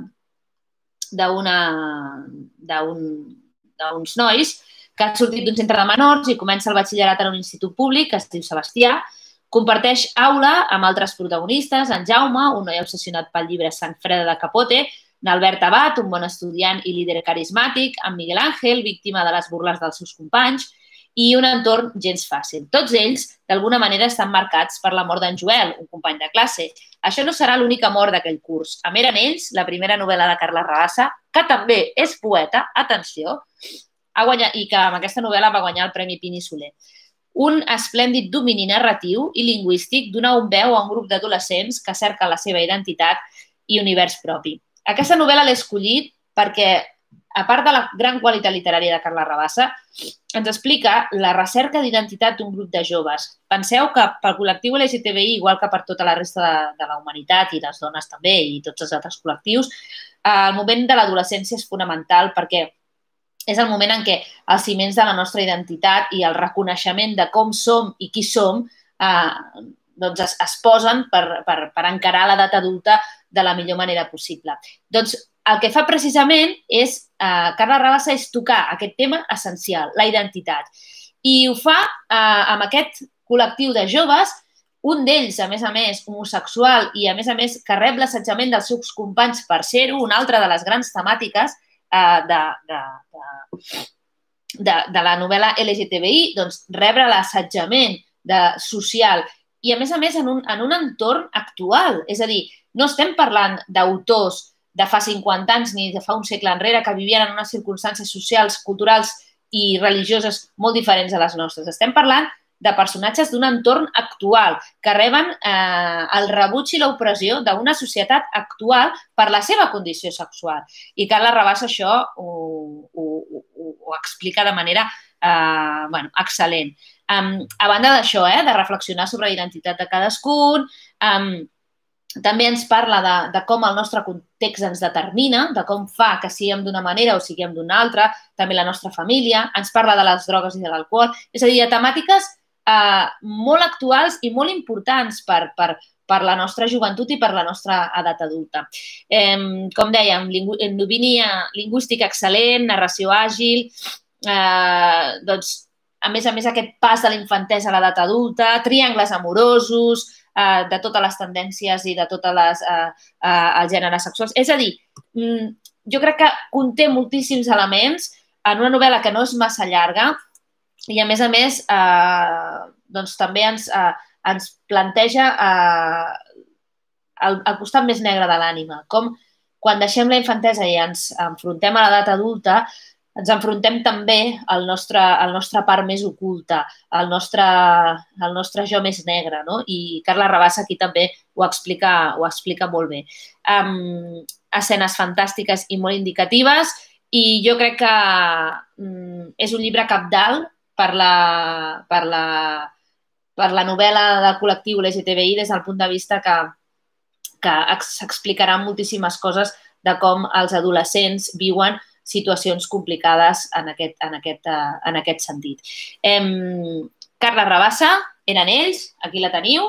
d'uns nois que han sortit d'un centre de menors i comença el batxillerat en un institut públic que es diu Sebastià, comparteix aula amb altres protagonistes, en Jaume, un noi obsessionat pel llibre Sang Freda de Capote, n'Albert Abad, un bon estudiant i líder carismàtic, en Miguel Ángel, víctima de les burles dels seus companys, i un entorn gens fàcil. Tots ells, d'alguna manera, estan marcats per la mort d'en Joel, un company de classe. Això no serà l'única mort d'aquell curs. Amb Eren ells, la primera novel·la de Carles Rabassa, que també és poeta, atenció, ha guanyat, i que amb aquesta novel·la va guanyar el Premi Pini Soler. Un esplèndid domini narratiu i lingüístic dona un veu a un grup d'adolescents que cerca la seva identitat i univers propi. Aquesta novel·la l'he escollit perquè, a part de la gran qualitat literària de Carles Rabassa, ens explica la recerca d'identitat d'un grup de joves. Penseu que pel col·lectiu L G T B I, igual que per tota la resta de, de la humanitat i les dones també i tots els altres col·lectius, el moment de l'adolescència és fonamental perquè és el moment en què els ciments de la nostra identitat i el reconeixement de com som i qui som eh, doncs es, es posen per, per, per encarar l'edat adulta de la millor manera possible. Doncs el que fa precisament és, eh, Carles Rabassa, és tocar aquest tema essencial, la identitat. I ho fa eh, amb aquest col·lectiu de joves, un d'ells, a més a més, homosexual i, a més a més, que rep l'assetjament dels seus companys per ser-ho, una altra de les grans temàtiques eh, de, de, de, de, de la novel·la L G T B I, doncs rebre l'assetjament social i a més a més en un, en un entorn actual. És a dir, no estem parlant d'autors de fa cinquanta anys ni de fa un segle enrere que vivien en unes circumstàncies socials, culturals i religioses molt diferents a les nostres. Estem parlant de personatges d'un entorn actual que reben eh, el rebuig i l'opressió d'una societat actual per la seva condició sexual. I Carles Rabassa això ho, ho, ho, ho explica de manera eh, bueno, excel·lent. Um, a banda d'això, eh, de reflexionar sobre la identitat de cadascun, um, també ens parla de, de com el nostre context ens determina, de com fa que siguem d'una manera o siguem d'una altra, també la nostra família, ens parla de les drogues i de l'alcohol, és a dir, de temàtiques eh, molt actuals i molt importants per, per, per la nostra joventut i per la nostra edat adulta. Eh, com dèiem, endovínia lingüística excel·lent, narració àgil, eh, doncs, a més a més, aquest pas de la infantesa a l'edat adulta, triangles amorosos, Uh, de totes les tendències i de tots uh, uh, els gèneres sexuals. És a dir, mm, jo crec que conté moltíssims elements en una novel·la que no és massa llarga i, a més a més, uh, doncs també ens, uh, ens planteja uh, el, el costat més negre de l'ànima. Com quan deixem la infantesa i ens enfrontem a l'edat adulta, ens enfrontem també al nostre, al nostre part més oculta, al nostre, al nostre jo més negre, no? I Carles Rabassa aquí també ho explica, ho explica molt bé. Um, escenes fantàstiques i molt indicatives i jo crec que um, és un llibre cabdal per la, per la, per la novel·la del col·lectiu L G T B I des del punt de vista que, que s'explicaran moltíssimes coses de com els adolescents viuen situacions complicades en aquest, en aquest, uh, en aquest sentit. Eh, Carles Rabassa, eren ells, aquí la teniu.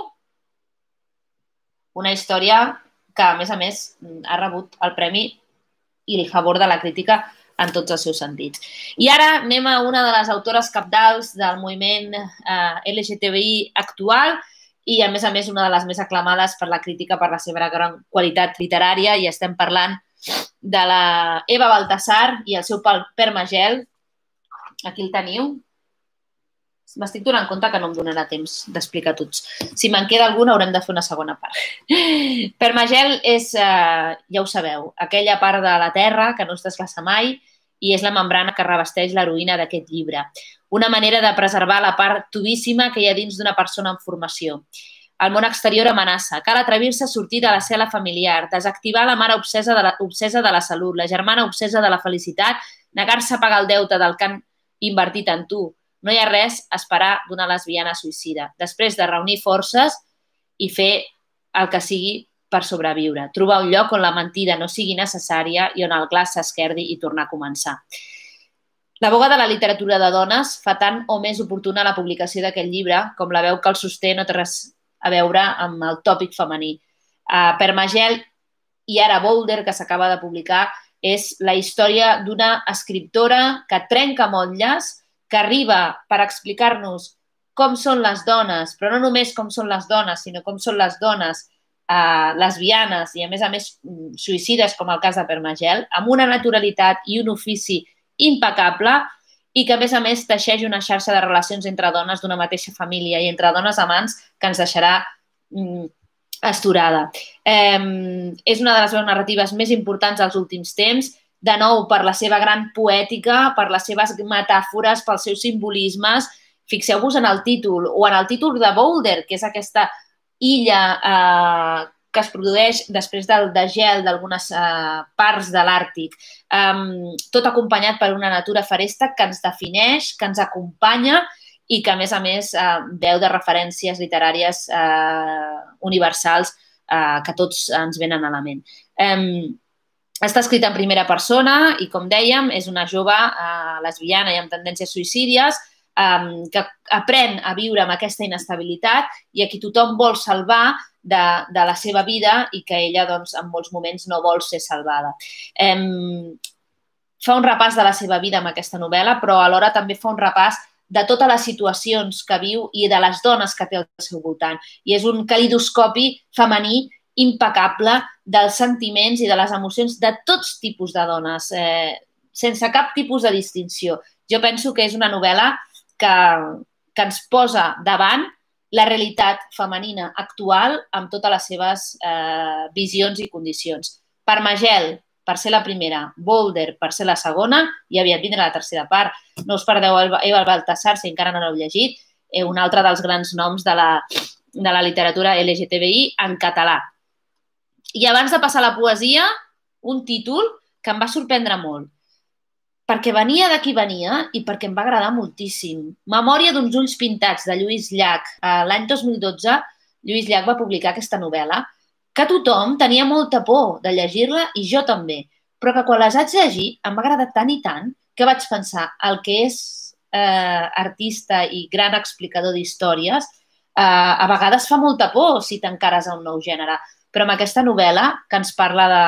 Una història que, a més a més, ha rebut el premi i el favor de la crítica en tots els seus sentits. I ara anem a una de les autores cabdals del moviment eh, L G T B I actual i, a més a més, una de les més aclamades per la crítica per la seva gran qualitat literària, i estem parlant de la Eva Baltasar i el seu Per Magel. Aquí el teniu. M'estic donant compte que no em donarà temps d'explicar tots. Si me'n queda alguna, haurem de fer una segona part. Per Magel és, eh, ja ho sabeu, aquella part de la Terra que no es desglaça mai i és la membrana que revesteix l'heroïna d'aquest llibre. Una manera de preservar la part tubíssima que hi ha dins d'una persona en formació. El món exterior amenaça. Cal atrevir-se a sortir de la cel·la familiar, desactivar la mare obsesa de la, obsesa de la salut, la germana obsesa de la felicitat, negar-se a pagar el deute del que han invertit en tu. No hi ha res a esperar d'una lesbiana suïcida. Després de reunir forces i fer el que sigui per sobreviure. Trobar un lloc on la mentida no sigui necessària i on el glaç s'esquerdi i tornar a començar. La boga de la literatura de dones fa tant o més oportuna la publicació d'aquest llibre com la veu que el sosté no té res a veure amb el tòpic femení. Uh, Per Magel i ara Boulder, que s'acaba de publicar, és la història d'una escriptora que trenca motlles, que arriba per explicar-nos com són les dones, però no només com són les dones, sinó com són les dones uh, lesbianes i, a més a més, suïcides, com el cas de Per Magel, amb una naturalitat i un ofici impecable i que, a més a més, teixeix una xarxa de relacions entre dones d'una mateixa família i entre dones amants que ens deixarà mm, esturada. Eh, és una de les veus narratives més importants dels últims temps, de nou per la seva gran poètica, per les seves metàfores, pels seus simbolismes. Fixeu-vos en el títol, o en el títol de Boulder, que és aquesta illa eh, que es produeix després del degel d'algunes eh, parts de l'Àrtic, um, tot acompanyat per una natura feresta que ens defineix, que ens acompanya i que, a més a més, eh, veu de referències literàries eh, universals eh, que tots ens venen a la ment. Um, està escrita en primera persona i, com dèiem, és una jove eh, lesbiana i amb tendències suïcídies um, que aprèn a viure amb aquesta inestabilitat i a qui tothom vol salvar de, de la seva vida i que ella, doncs, en molts moments no vol ser salvada. Um, fa un repàs de la seva vida amb aquesta novel·la, però alhora també fa un repàs de totes les situacions que viu i de les dones que té al seu voltant. I és un calidoscopi femení impecable dels sentiments i de les emocions de tots tipus de dones, eh, sense cap tipus de distinció. Jo penso que és una novel·la que, que ens posa davant la realitat femenina actual amb totes les seves eh, visions i condicions. Per Magel, per ser la primera, Boulder, per ser la segona, i aviat vindrà la tercera part. No us perdeu Eva Baltasar, si encara no l'heu llegit, eh, un altre dels grans noms de la, de la literatura L G T B I en català. I abans de passar a la poesia, un títol que em va sorprendre molt, perquè venia de qui venia i perquè em va agradar moltíssim. Memòria d'uns ulls pintats, de Lluís Llach. L'any dos mil dotze, Lluís Llach va publicar aquesta novel·la que tothom tenia molta por de llegir-la i jo també, però que quan les haig llegit em va agradar tant i tant que vaig pensar el que és eh, artista i gran explicador d'històries eh, a vegades fa molta por si t'encares a un nou gènere. Però amb aquesta novel·la, que ens parla de,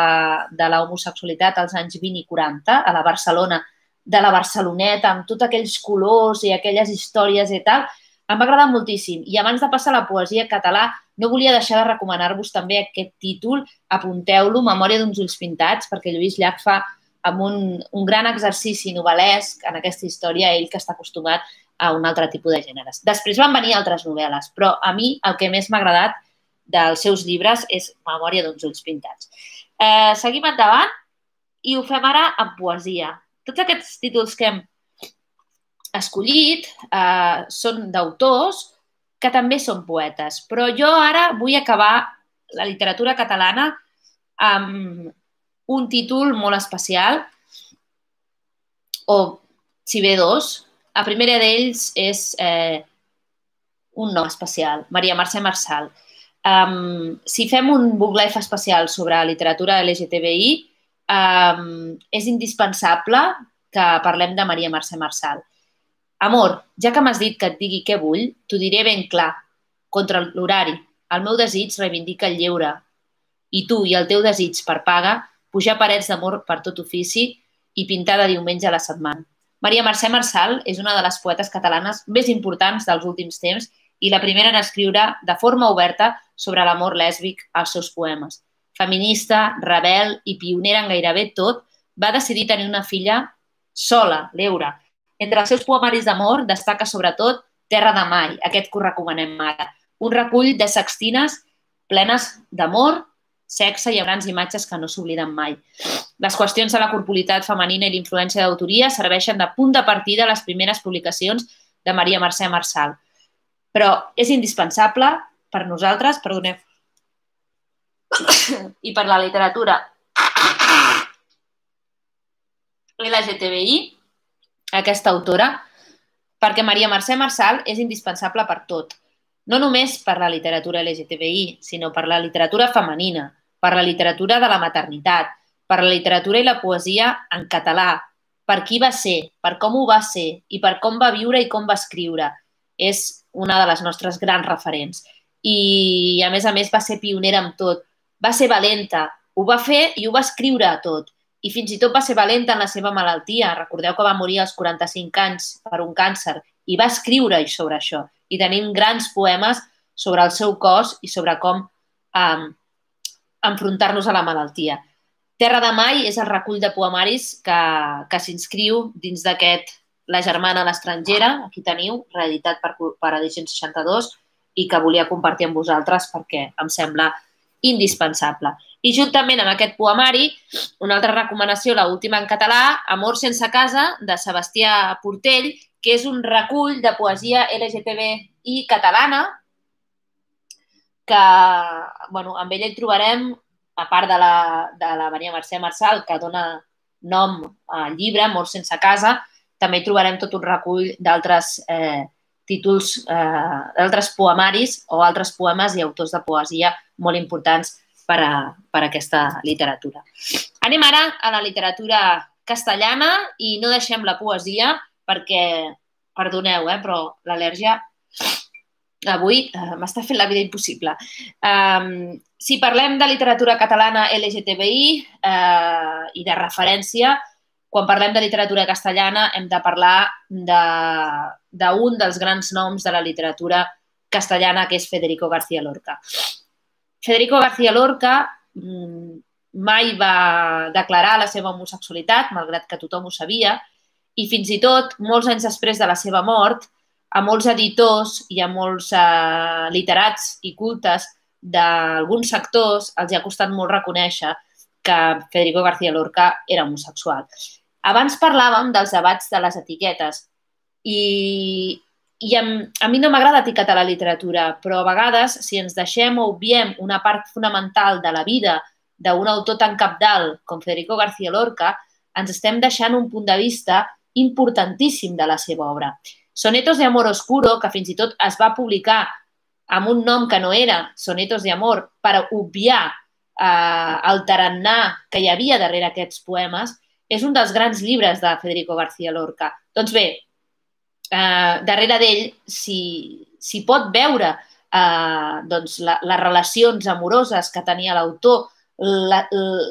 de la homosexualitat als anys vint i quaranta, a la Barcelona, de la Barceloneta, amb tots aquells colors i aquelles històries i tal, em va agradar moltíssim. I abans de passar a la poesia català, no volia deixar de recomanar-vos també aquest títol, apunteu-lo, Memòria d'uns ulls pintats, perquè Lluís Llach fa amb un, un gran exercici novel·lesc en aquesta història, ell que està acostumat a un altre tipus de gèneres. Després van venir altres novel·les, però a mi el que més m'ha agradat dels seus llibres és Memòria d'uns ulls pintats. Eh, seguim endavant i ho fem ara en poesia. Tots aquests títols que hem escollit eh, són d'autors que també són poetes, però jo ara vull acabar la literatura catalana amb un títol molt especial, o si bé dos. La primera d'ells és eh, un nom especial, Maria Mercè Marçal. Um, si fem un book live especial sobre literatura L G T B I, um, és indispensable que parlem de Maria Mercè Marçal. Amor, ja que m'has dit que et digui què vull, t'ho diré ben clar. Contra l'horari, el meu desig reivindica el lleure. I tu i el teu desig per paga, pujar parets d'amor per tot ofici i pintar de diumenge a la setmana. Maria Mercè Marçal és una de les poetes catalanes més importants dels últims temps i la primera en escriure de forma oberta sobre l'amor lèsbic als seus poemes. Feminista, rebel i pionera en gairebé tot, va decidir tenir una filla sola, l'Eura. Entre els seus poemaris d'amor destaca sobretot Terra de Mai, aquest que us recomanem ara. Un recull de sextines plenes d'amor, sexe i amb grans imatges que no s'obliden mai. Les qüestions de la corporalitat femenina i l'influència d'autoria serveixen de punt de partida a les primeres publicacions de Maria Mercè Marçal. Però és indispensable per nosaltres, perdoneu, i per la literatura L G T B I, aquesta autora, perquè Maria Mercè Marçal és indispensable per tot. No només per la literatura L G T B I, sinó per la literatura femenina, per la literatura de la maternitat, per la literatura i la poesia en català, per qui va ser, per com ho va ser i per com va viure i com va escriure. És una de les nostres grans referents. I, a més a més, va ser pionera en tot. Va ser valenta, ho va fer i ho va escriure tot. I fins i tot va ser valenta en la seva malaltia. Recordeu que va morir als quaranta-cinc anys per un càncer i va escriure sobre això. I tenim grans poemes sobre el seu cos i sobre com um, enfrontar-nos a la malaltia. Terra de Mai és el recull de poemaris que, que s'inscriu dins d'aquest La germana a l'estrangera, aquí teniu, reeditat per, per Edicions seixanta-dos, i que volia compartir amb vosaltres perquè em sembla indispensable. I juntament amb aquest poemari, una altra recomanació, l'última en català, Amor sense casa, de Sebastià Portell, que és un recull de poesia L G T B I catalana, que bueno, amb ella hi trobarem, a part de la, de la Maria Mercè Marçal, que dona nom al llibre, Amor sense casa, també hi trobarem tot un recull d'altres eh, títols, eh, d'altres poemaris o altres poemes i autors de poesia molt importants per a, per a aquesta literatura. Anem ara a la literatura castellana i no deixem la poesia perquè, perdoneu, eh, però l'al·lèrgia avui eh, m'està fent la vida impossible. Um, si parlem de literatura catalana L G T B I eh, i de referència, quan parlem de literatura castellana hem de parlar d'un dels grans noms de la literatura castellana, que és Federico García Lorca. Federico García Lorca mai va declarar la seva homosexualitat, malgrat que tothom ho sabia, i fins i tot, molts anys després de la seva mort, a molts editors i a molts eh, literats i cultes d'alguns sectors els ha costat molt reconèixer que Federico García Lorca era homosexual. Abans parlàvem dels debats de les etiquetes i, i a, a mi no m'agrada etiquetar la literatura, però a vegades, si ens deixem o obviem una part fonamental de la vida d'un autor tan cabdal com Federico García Lorca, ens estem deixant un punt de vista importantíssim de la seva obra. Sonetos de amor oscuro, que fins i tot es va publicar amb un nom que no era Sonetos de amor, per obviar eh, el tarannà que hi havia darrere aquests poemes, és un dels grans llibres de Federico García Lorca. Doncs bé, eh, darrere d'ell s'hi si pot veure eh, doncs, la, les relacions amoroses que tenia l'autor, la, la,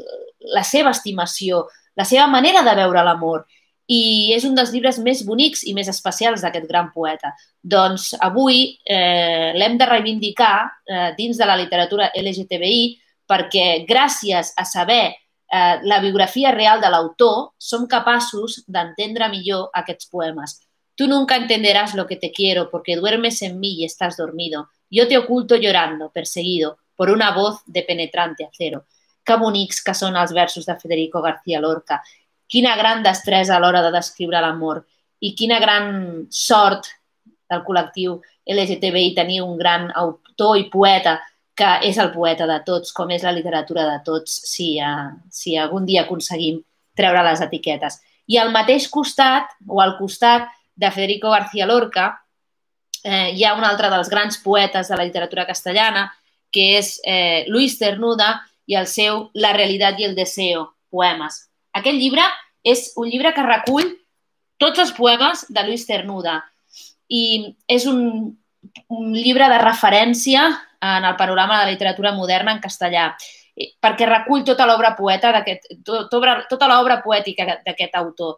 la seva estimació, la seva manera de veure l'amor. I és un dels llibres més bonics i més especials d'aquest gran poeta. Doncs avui eh, l'hem de reivindicar eh, dins de la literatura L G T B I perquè gràcies a saber eh, la biografia real de l'autor som capaços d'entendre millor aquests poemes. Tu nunca entenderás lo que te quiero porque duermes en mí y estás dormido. Yo te oculto llorando, perseguido por una voz de penetrante acero. Que bonics que són els versos de Federico García Lorca. Quina gran destresa a l'hora de descriure l'amor i quina gran sort del col·lectiu L G T B I tenir un gran autor i poeta que és el poeta de tots, com és la literatura de tots, si, uh, si algun dia aconseguim treure les etiquetes. I al mateix costat, o al costat de Federico García Lorca, eh, hi ha un altre dels grans poetes de la literatura castellana, que és eh, Luis Cernuda i el seu La realitat i el deseo, poemes. Aquest llibre és un llibre que recull tots els poemes de Luis Cernuda i és un, un llibre de referència en el panorama de la literatura moderna en castellà perquè recull tota l'obra poeta d'aquest, tota, tota l'obra poètica d'aquest autor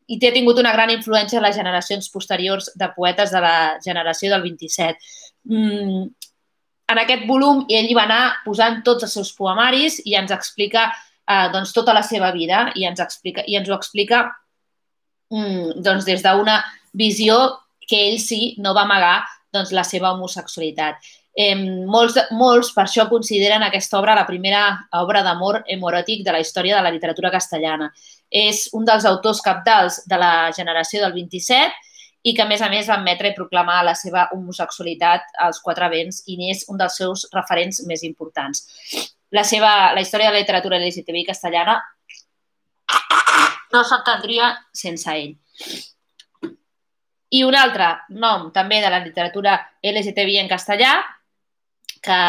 i té tingut una gran influència en les generacions posteriors de poetes de la generació del vint-i-set. Mm, en aquest volum ell hi va anar posant tots els seus poemaris i ens explica Eh, doncs, tota la seva vida i ens, explica, i ens ho explica mm, doncs, des d'una visió que ell sí no va amagar doncs, la seva homosexualitat. Eh, molts, molts per això consideren aquesta obra la primera obra d'amor hemoròtic de la història de la literatura castellana. És un dels autors cabdals de la generació del vint-i-set i que, a més a més, va admetre i proclamar la seva homosexualitat als quatre vents i n'és un dels seus referents més importants. La, seva, la història de la literatura L G T B I castellana no s'entendria sense ell. I un altre nom també de la literatura L G T B I en castellà que,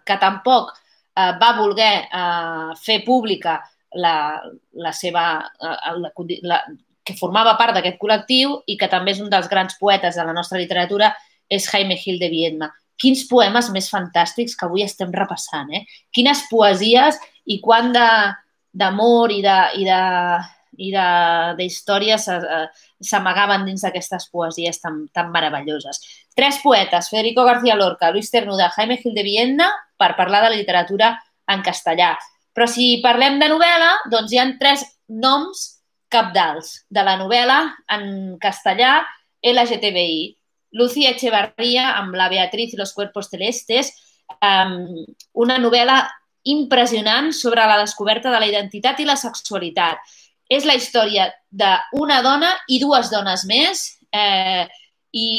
que tampoc eh, va voler eh, fer pública la, la seva, eh, la, la, que formava part d'aquest col·lectiu i que també és un dels grans poetes de la nostra literatura, és Jaime Gil de Viedma. Quins poemes més fantàstics que avui estem repassant, eh? Quines poesies i quant d'amor i de, i de, i de, de històries s'amagaven dins d'aquestes poesies tan, tan meravelloses. Tres poetes, Federico García Lorca, Luis Cernuda, Jaime Gil de Viedma, per parlar de la literatura en castellà. Però si parlem de novel·la, doncs hi ha tres noms cabdals de la novel·la en castellà L G T B I. Lucía Echevarría, amb La Beatriz i los cuerpos celestes, um, una novel·la impressionant sobre la descoberta de la identitat i la sexualitat. És la història d'una dona i dues dones més eh, i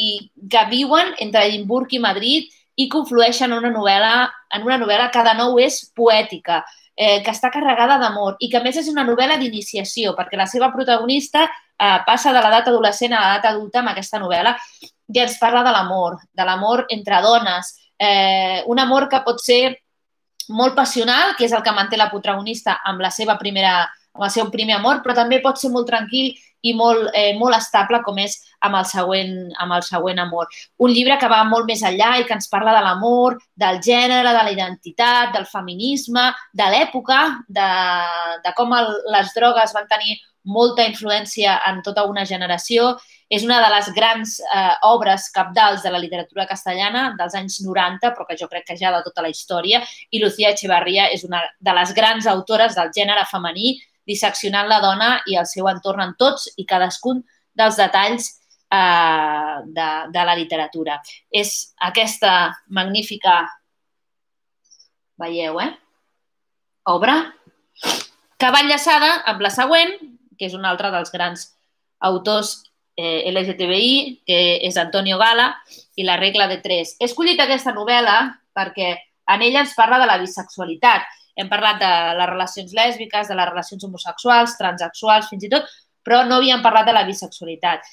que viuen entre Edimburg i Madrid i conflueixen en una novel·la, en una novel·la que de nou és poètica, eh, que està carregada d'amor i que a més és una novel·la d'iniciació perquè la seva protagonista eh, passa de l'edat adolescent a l'edat adulta amb aquesta novel·la i ens parla de l'amor, de l'amor entre dones, eh, un amor que pot ser molt passional, que és el que manté la protagonista amb la seva primera, amb el seu primer amor, però també pot ser molt tranquil i molt, eh, molt estable com és amb el, següent, amb el següent amor. Un llibre que va molt més enllà i que ens parla de l'amor, del gènere, de la identitat, del feminisme, de l'època, de, de com el, les drogues van tenir molta influència en tota una generació. És una de les grans eh, obres cabdals de la literatura castellana dels anys noranta, però que jo crec que ja de tota la història, i Lucía Echevarría és una de les grans autores del gènere femení, disseccionant la dona i el seu entorn en tots i cadascun dels detalls de, de la literatura. És aquesta magnífica, veieu, eh? obra, que va enllaçada amb la següent, que és un altre dels grans autors eh, L G T B I, que és Antonio Gala, i La regla de tres. He escollit aquesta novel·la perquè en ella ens parla de la bisexualitat. Hem parlat de les relacions lèsbiques, de les relacions homosexuals, transexuals, fins i tot, però no havíem parlat de la bisexualitat.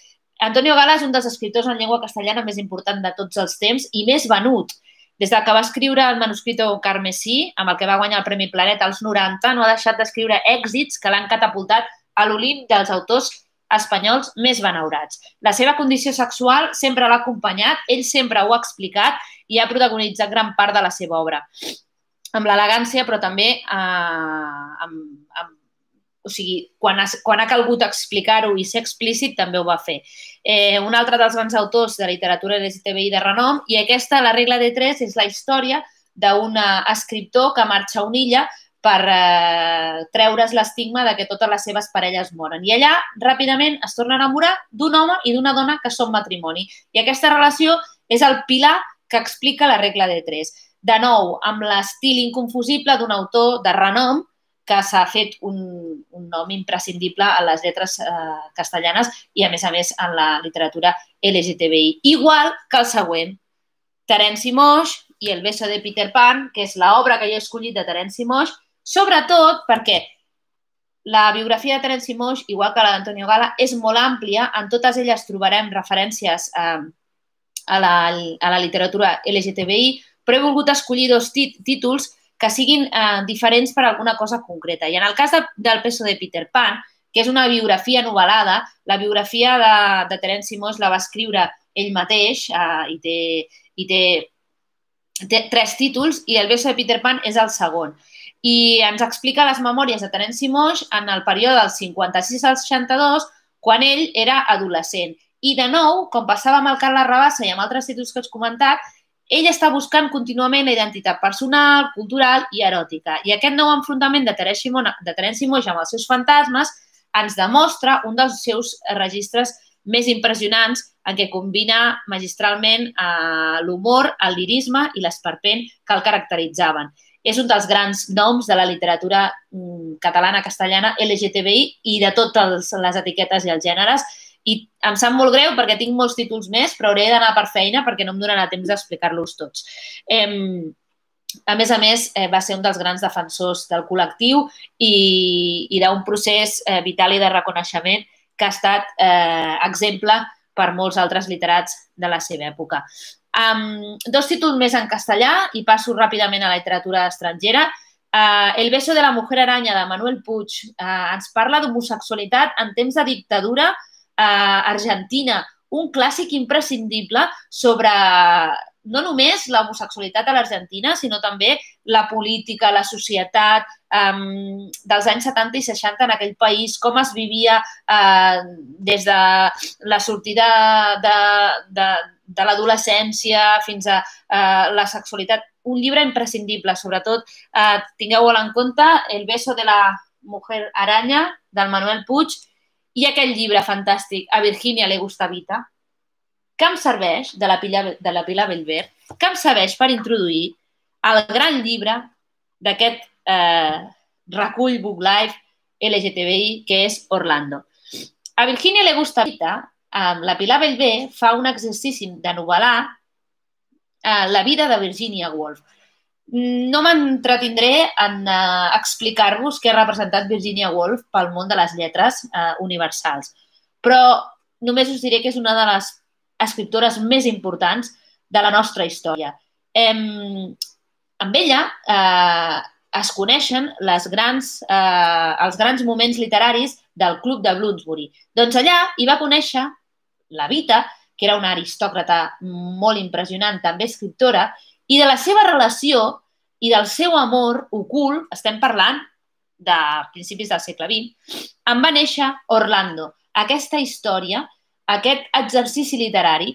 Antonio Gala és un dels escriptors en llengua castellana més important de tots els temps i més venut. Des que va escriure el Manuscrito Carmesí, amb el que va guanyar el Premi Planeta als noranta, no ha deixat d'escriure èxits que l'han catapultat a l'Olimp dels autors espanyols més benaurats. La seva condició sexual sempre l'ha acompanyat, ell sempre ho ha explicat i ha protagonitzat gran part de la seva obra. Amb l'elegància, però també eh, amb, amb o sigui, quan ha, quan ha calgut explicar-ho i ser explícit, també ho va fer. Eh, un altre dels grans autors de literatura L G T B I de renom, i aquesta, La regla de tres, és la història d'un escriptor que marxa a una illa per eh, treure's l'estigma de que totes les seves parelles moren. I allà, ràpidament, es torna a enamorar d'un home i d'una dona que són matrimoni. I aquesta relació és el pilar que explica La regla de tres. De nou, amb l'estil inconfusible d'un autor de renom, que s'ha fet un, un nom imprescindible a les lletres eh, castellanes i, a més a més, en la literatura L G T B I. Igual que el següent, Terenci Moix i El beso de Peter Pan, que és l'obra que jo he escollit de Terenci Moix, sobretot perquè la biografia de Terenci Moix, igual que la d'Antonio Gala, és molt àmplia. En totes elles trobarem referències eh, a, la, a la literatura L G T B I, però he volgut escollir dos títols que siguin eh, diferents per alguna cosa concreta. I en el cas de, del Beso de Peter Pan, que és una biografia novel·lada, la biografia de, de Terenci Moix la va escriure ell mateix eh, i, té, i té, té tres títols i El beso de Peter Pan és el segon. I ens explica les memòries de Terenci Moix en el període del cinquanta-sis al seixanta-dos, quan ell era adolescent. I, de nou, com passava amb el Carles Rabassa i amb altres títols que us he comentat, ell està buscant contínuament la identitat personal, cultural i eròtica. I aquest nou enfrontament de Terenci Moix amb els seus fantasmes ens demostra un dels seus registres més impressionants en què combina magistralment l'humor, el lirisme i l'esperpent que el caracteritzaven. És un dels grans noms de la literatura catalana, castellana, L G T B I i de totes les etiquetes i els gèneres. I em sap molt greu perquè tinc molts títols més, però hauré d'anar per feina perquè no em donarà temps d'explicar-los tots. Eh, a més a més, eh, va ser un dels grans defensors del col·lectiu i, i d'un procés eh, vital i de reconeixement que ha estat eh, exemple per molts altres literats de la seva època. Um, dos títols més en castellà i passo ràpidament a la literatura estrangera. Uh, El beso de la mujer araña de Manuel Puig uh, ens parla d'homosexualitat en temps de dictadura Uh, Argentina, un clàssic imprescindible sobre no només l'homosexualitat a l'Argentina, sinó també la política, la societat um, dels anys setanta i seixanta en aquell país, com es vivia uh, des de la sortida de, de, de l'adolescència fins a uh, la sexualitat. Un llibre imprescindible, sobretot uh, tingueu-ho en compte, El beso de la mujer araña, del Manuel Puig, i aquell llibre fantàstic, A Virginia le gusta Vita, que em serveix, de la Pilar, de la Pilar Bellver, que em serveix per introduir el gran llibre d'aquest eh, recull Book Life L G T B I, que és Orlando. A Virginia le gusta Vita, eh, la Pilar Bellver fa un exercici de novel·lar eh, la vida de Virginia Woolf. No m'entretindré en uh, explicar-vos què ha representat Virginia Woolf pel món de les lletres uh, universals, però només us diré que és una de les escriptores més importants de la nostra història. Eh, amb ella eh, es coneixen les grans, eh, els grans moments literaris del Club de Bloomsbury. Doncs allà hi va conèixer la Vita, que era una aristòcrata molt impressionant, també escriptora, i de la seva relació i del seu amor ocult, estem parlant de principis del segle vint, en va néixer Orlando. Aquesta història, aquest exercici literari,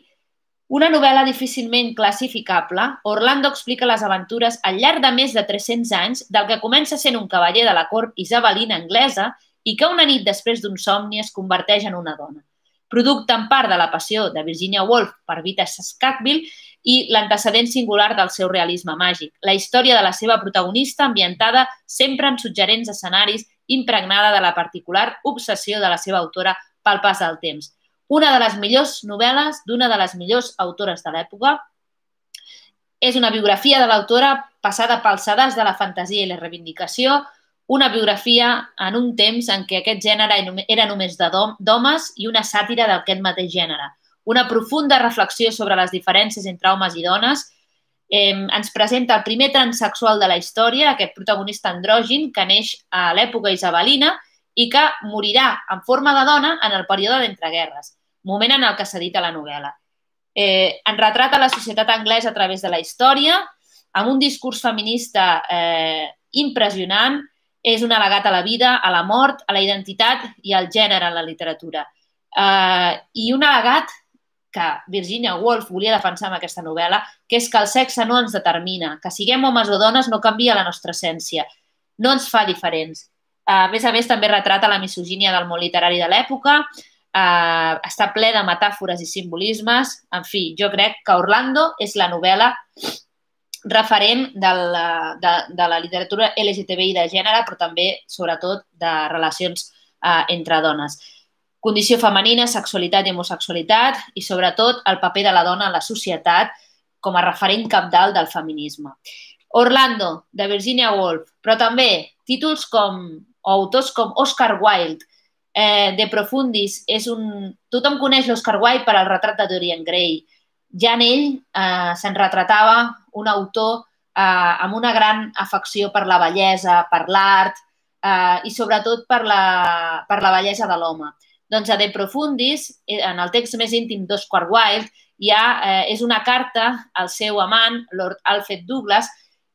una novel·la difícilment classificable, Orlando explica les aventures al llarg de més de tres-cents anys del que comença sent un cavaller de la cort isabelina anglesa i que una nit després d'un somni es converteix en una dona. producte en part de la passió de Virginia Woolf per Vita Sackville i l'antecedent singular del seu realisme màgic. La història de la seva protagonista ambientada sempre en suggerents escenaris, impregnada de la particular obsessió de la seva autora pel pas del temps. Una de les millors novel·les d'una de les millors autores de l'època. És una biografia de l'autora passada pels sedars de la fantasia i la reivindicació, una biografia en un temps en què aquest gènere era només d'homes i una sàtira d'aquest mateix gènere. Una profunda reflexió sobre les diferències entre homes i dones. Eh, ens presenta el primer transsexual de la història, aquest protagonista andrògin que neix a l'època isabelina i que morirà en forma de dona en el període d'entreguerres, moment en el que s'edita la novel·la. Eh, en retrata la societat anglesa a través de la història, amb un discurs feminista eh, impressionant. És un al·legat a la vida, a la mort, a la identitat i al gènere en la literatura. Eh, I un al·legat que Virginia Woolf volia defensar amb aquesta novel·la, que és que el sexe no ens determina, que siguem homes o dones no canvia la nostra essència, no ens fa diferents. A més a més, també retrata la misogínia del món literari de l'època, eh, està ple de metàfores i simbolismes. En fi, jo crec que Orlando és la novel·la referent de la, de, de la literatura L G T B I de gènere, però també, sobretot, de relacions eh, entre dones. Condició femenina, sexualitat i homosexualitat i, sobretot, el paper de la dona en la societat com a referent cabdal del feminisme. Orlando, de Virginia Woolf, però també títols com, o autors com Oscar Wilde, eh, De Profundis, és un... Tothom coneix l'Oscar Wilde per al retrat de Dorian Gray. Ja en ell eh, se'n retratava un autor eh, amb una gran afecció per la bellesa, per l'art eh, i sobretot per la, per la bellesa de l'home. Doncs a De Profundis, en el text més íntim d'Oscar Wilde, hi ha, eh, és una carta al seu amant, Lord Alfred Douglas,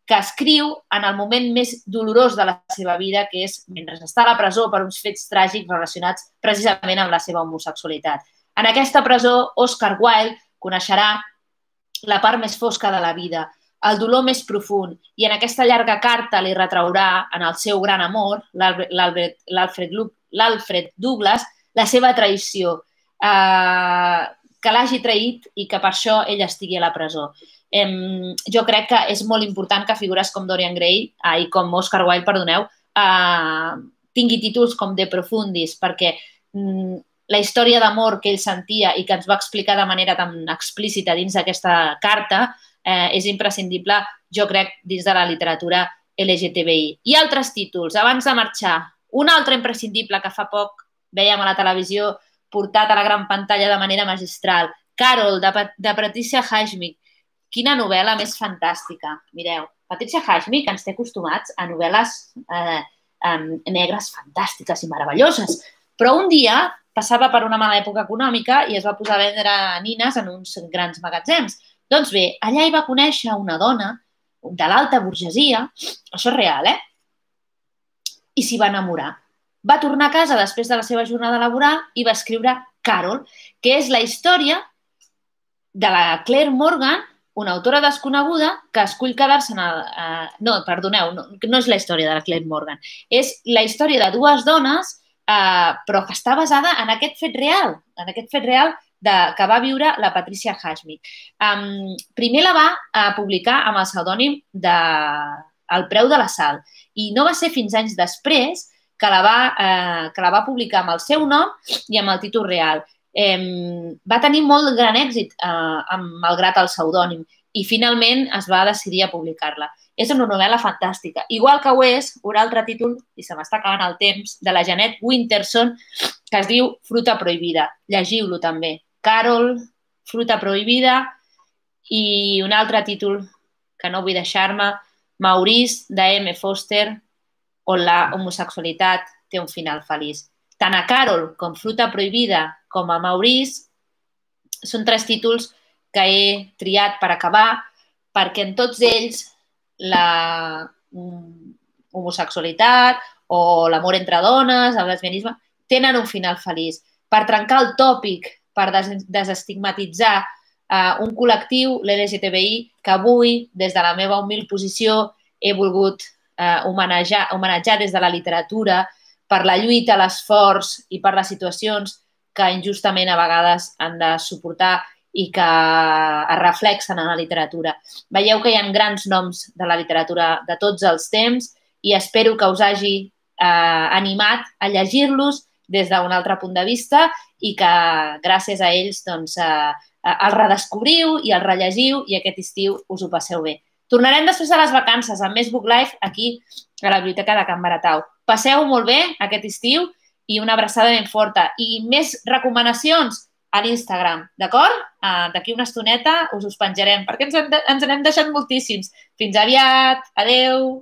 que escriu en el moment més dolorós de la seva vida, que és mentre està a la presó per uns fets tràgics relacionats precisament amb la seva homosexualitat. En aquesta presó, Oscar Wilde coneixerà la part més fosca de la vida, el dolor més profund, i en aquesta llarga carta li retraurà en el seu gran amor, l'Alfred Douglas, la seva traïció, eh, que l'hagi traït i que per això ell estigui a la presó. Eh, jo crec que és molt important que figures com Dorian Gray eh, i com Oscar Wilde, perdoneu, eh, tingui títols com De Profundis, perquè mm, la història d'amor que ell sentia i que ens va explicar de manera tan explícita dins d'aquesta carta eh, és imprescindible, jo crec, dins de la literatura L G T B I. I altres títols, abans de marxar, un altre imprescindible que fa poc vèiem a la televisió portat a la gran pantalla de manera magistral, Carol, de, de Patricia Highsmith. Quina novel·la més fantàstica. Mireu, Patricia Highsmith ens té acostumats a novel·les eh, eh, negres fantàstiques i meravelloses, però un dia passava per una mala època econòmica i es va posar a vendre nines en uns grans magatzems. Doncs bé, allà hi va conèixer una dona de l'alta burgesia, això és real, eh? I s'hi va enamorar. Va tornar a casa després de la seva jornada laboral i va escriure Carol, que és la història de la Claire Morgan, una autora desconeguda que escull quedar-se en el... Eh, no, perdoneu, no, no és la història de la Claire Morgan. És la història de dues dones, eh, però que està basada en aquest fet real, en aquest fet real de, que va viure la Patricia Highsmith. Um, primer la va uh, publicar amb el pseudònim de El preu de la sal i no va ser fins anys després que la va, eh, que la va publicar amb el seu nom i amb el títol real. Eh, va tenir molt gran èxit, eh, malgrat el pseudònim, i finalment es va decidir a publicar-la. És una novel·la fantàstica. Igual que ho és un altre títol, i se m'està acabant el temps, de la Jeanette Winterson, que es diu Fruta prohibida. Llegiu-lo també. Carol, Fruta prohibida, i un altre títol que no vull deixar-me, Maurice, de M. Foster, on la homosexualitat té un final feliç. Tant a Carol com Fruta prohibida com a Maurice són tres títols que he triat per acabar perquè en tots ells la homosexualitat o l'amor entre dones, el lesbianisme, tenen un final feliç. Per trencar el tòpic, per desestigmatitzar uh, un col·lectiu, l'L G T B I, que avui, des de la meva humil posició, he volgut Uh, homenatjar, homenatjar des de la literatura per la lluita, l'esforç i per les situacions que injustament a vegades han de suportar i que es reflexen en la literatura. Veieu que hi ha grans noms de la literatura de tots els temps i espero que us hagi eh, animat a llegir-los des d'un altre punt de vista i que gràcies a ells doncs, eh, els redescobriu i els rellegiu i aquest estiu us ho passeu bé. Tornarem després de les vacances amb més Book Life aquí a la Biblioteca de Can Baratau. Passeu molt bé aquest estiu i una abraçada ben forta. I més recomanacions a l'Instagram, d'acord? Uh, D'aquí una estoneta us us penjarem perquè ens, en, ens n'hem deixat moltíssims. Fins aviat. Adeu.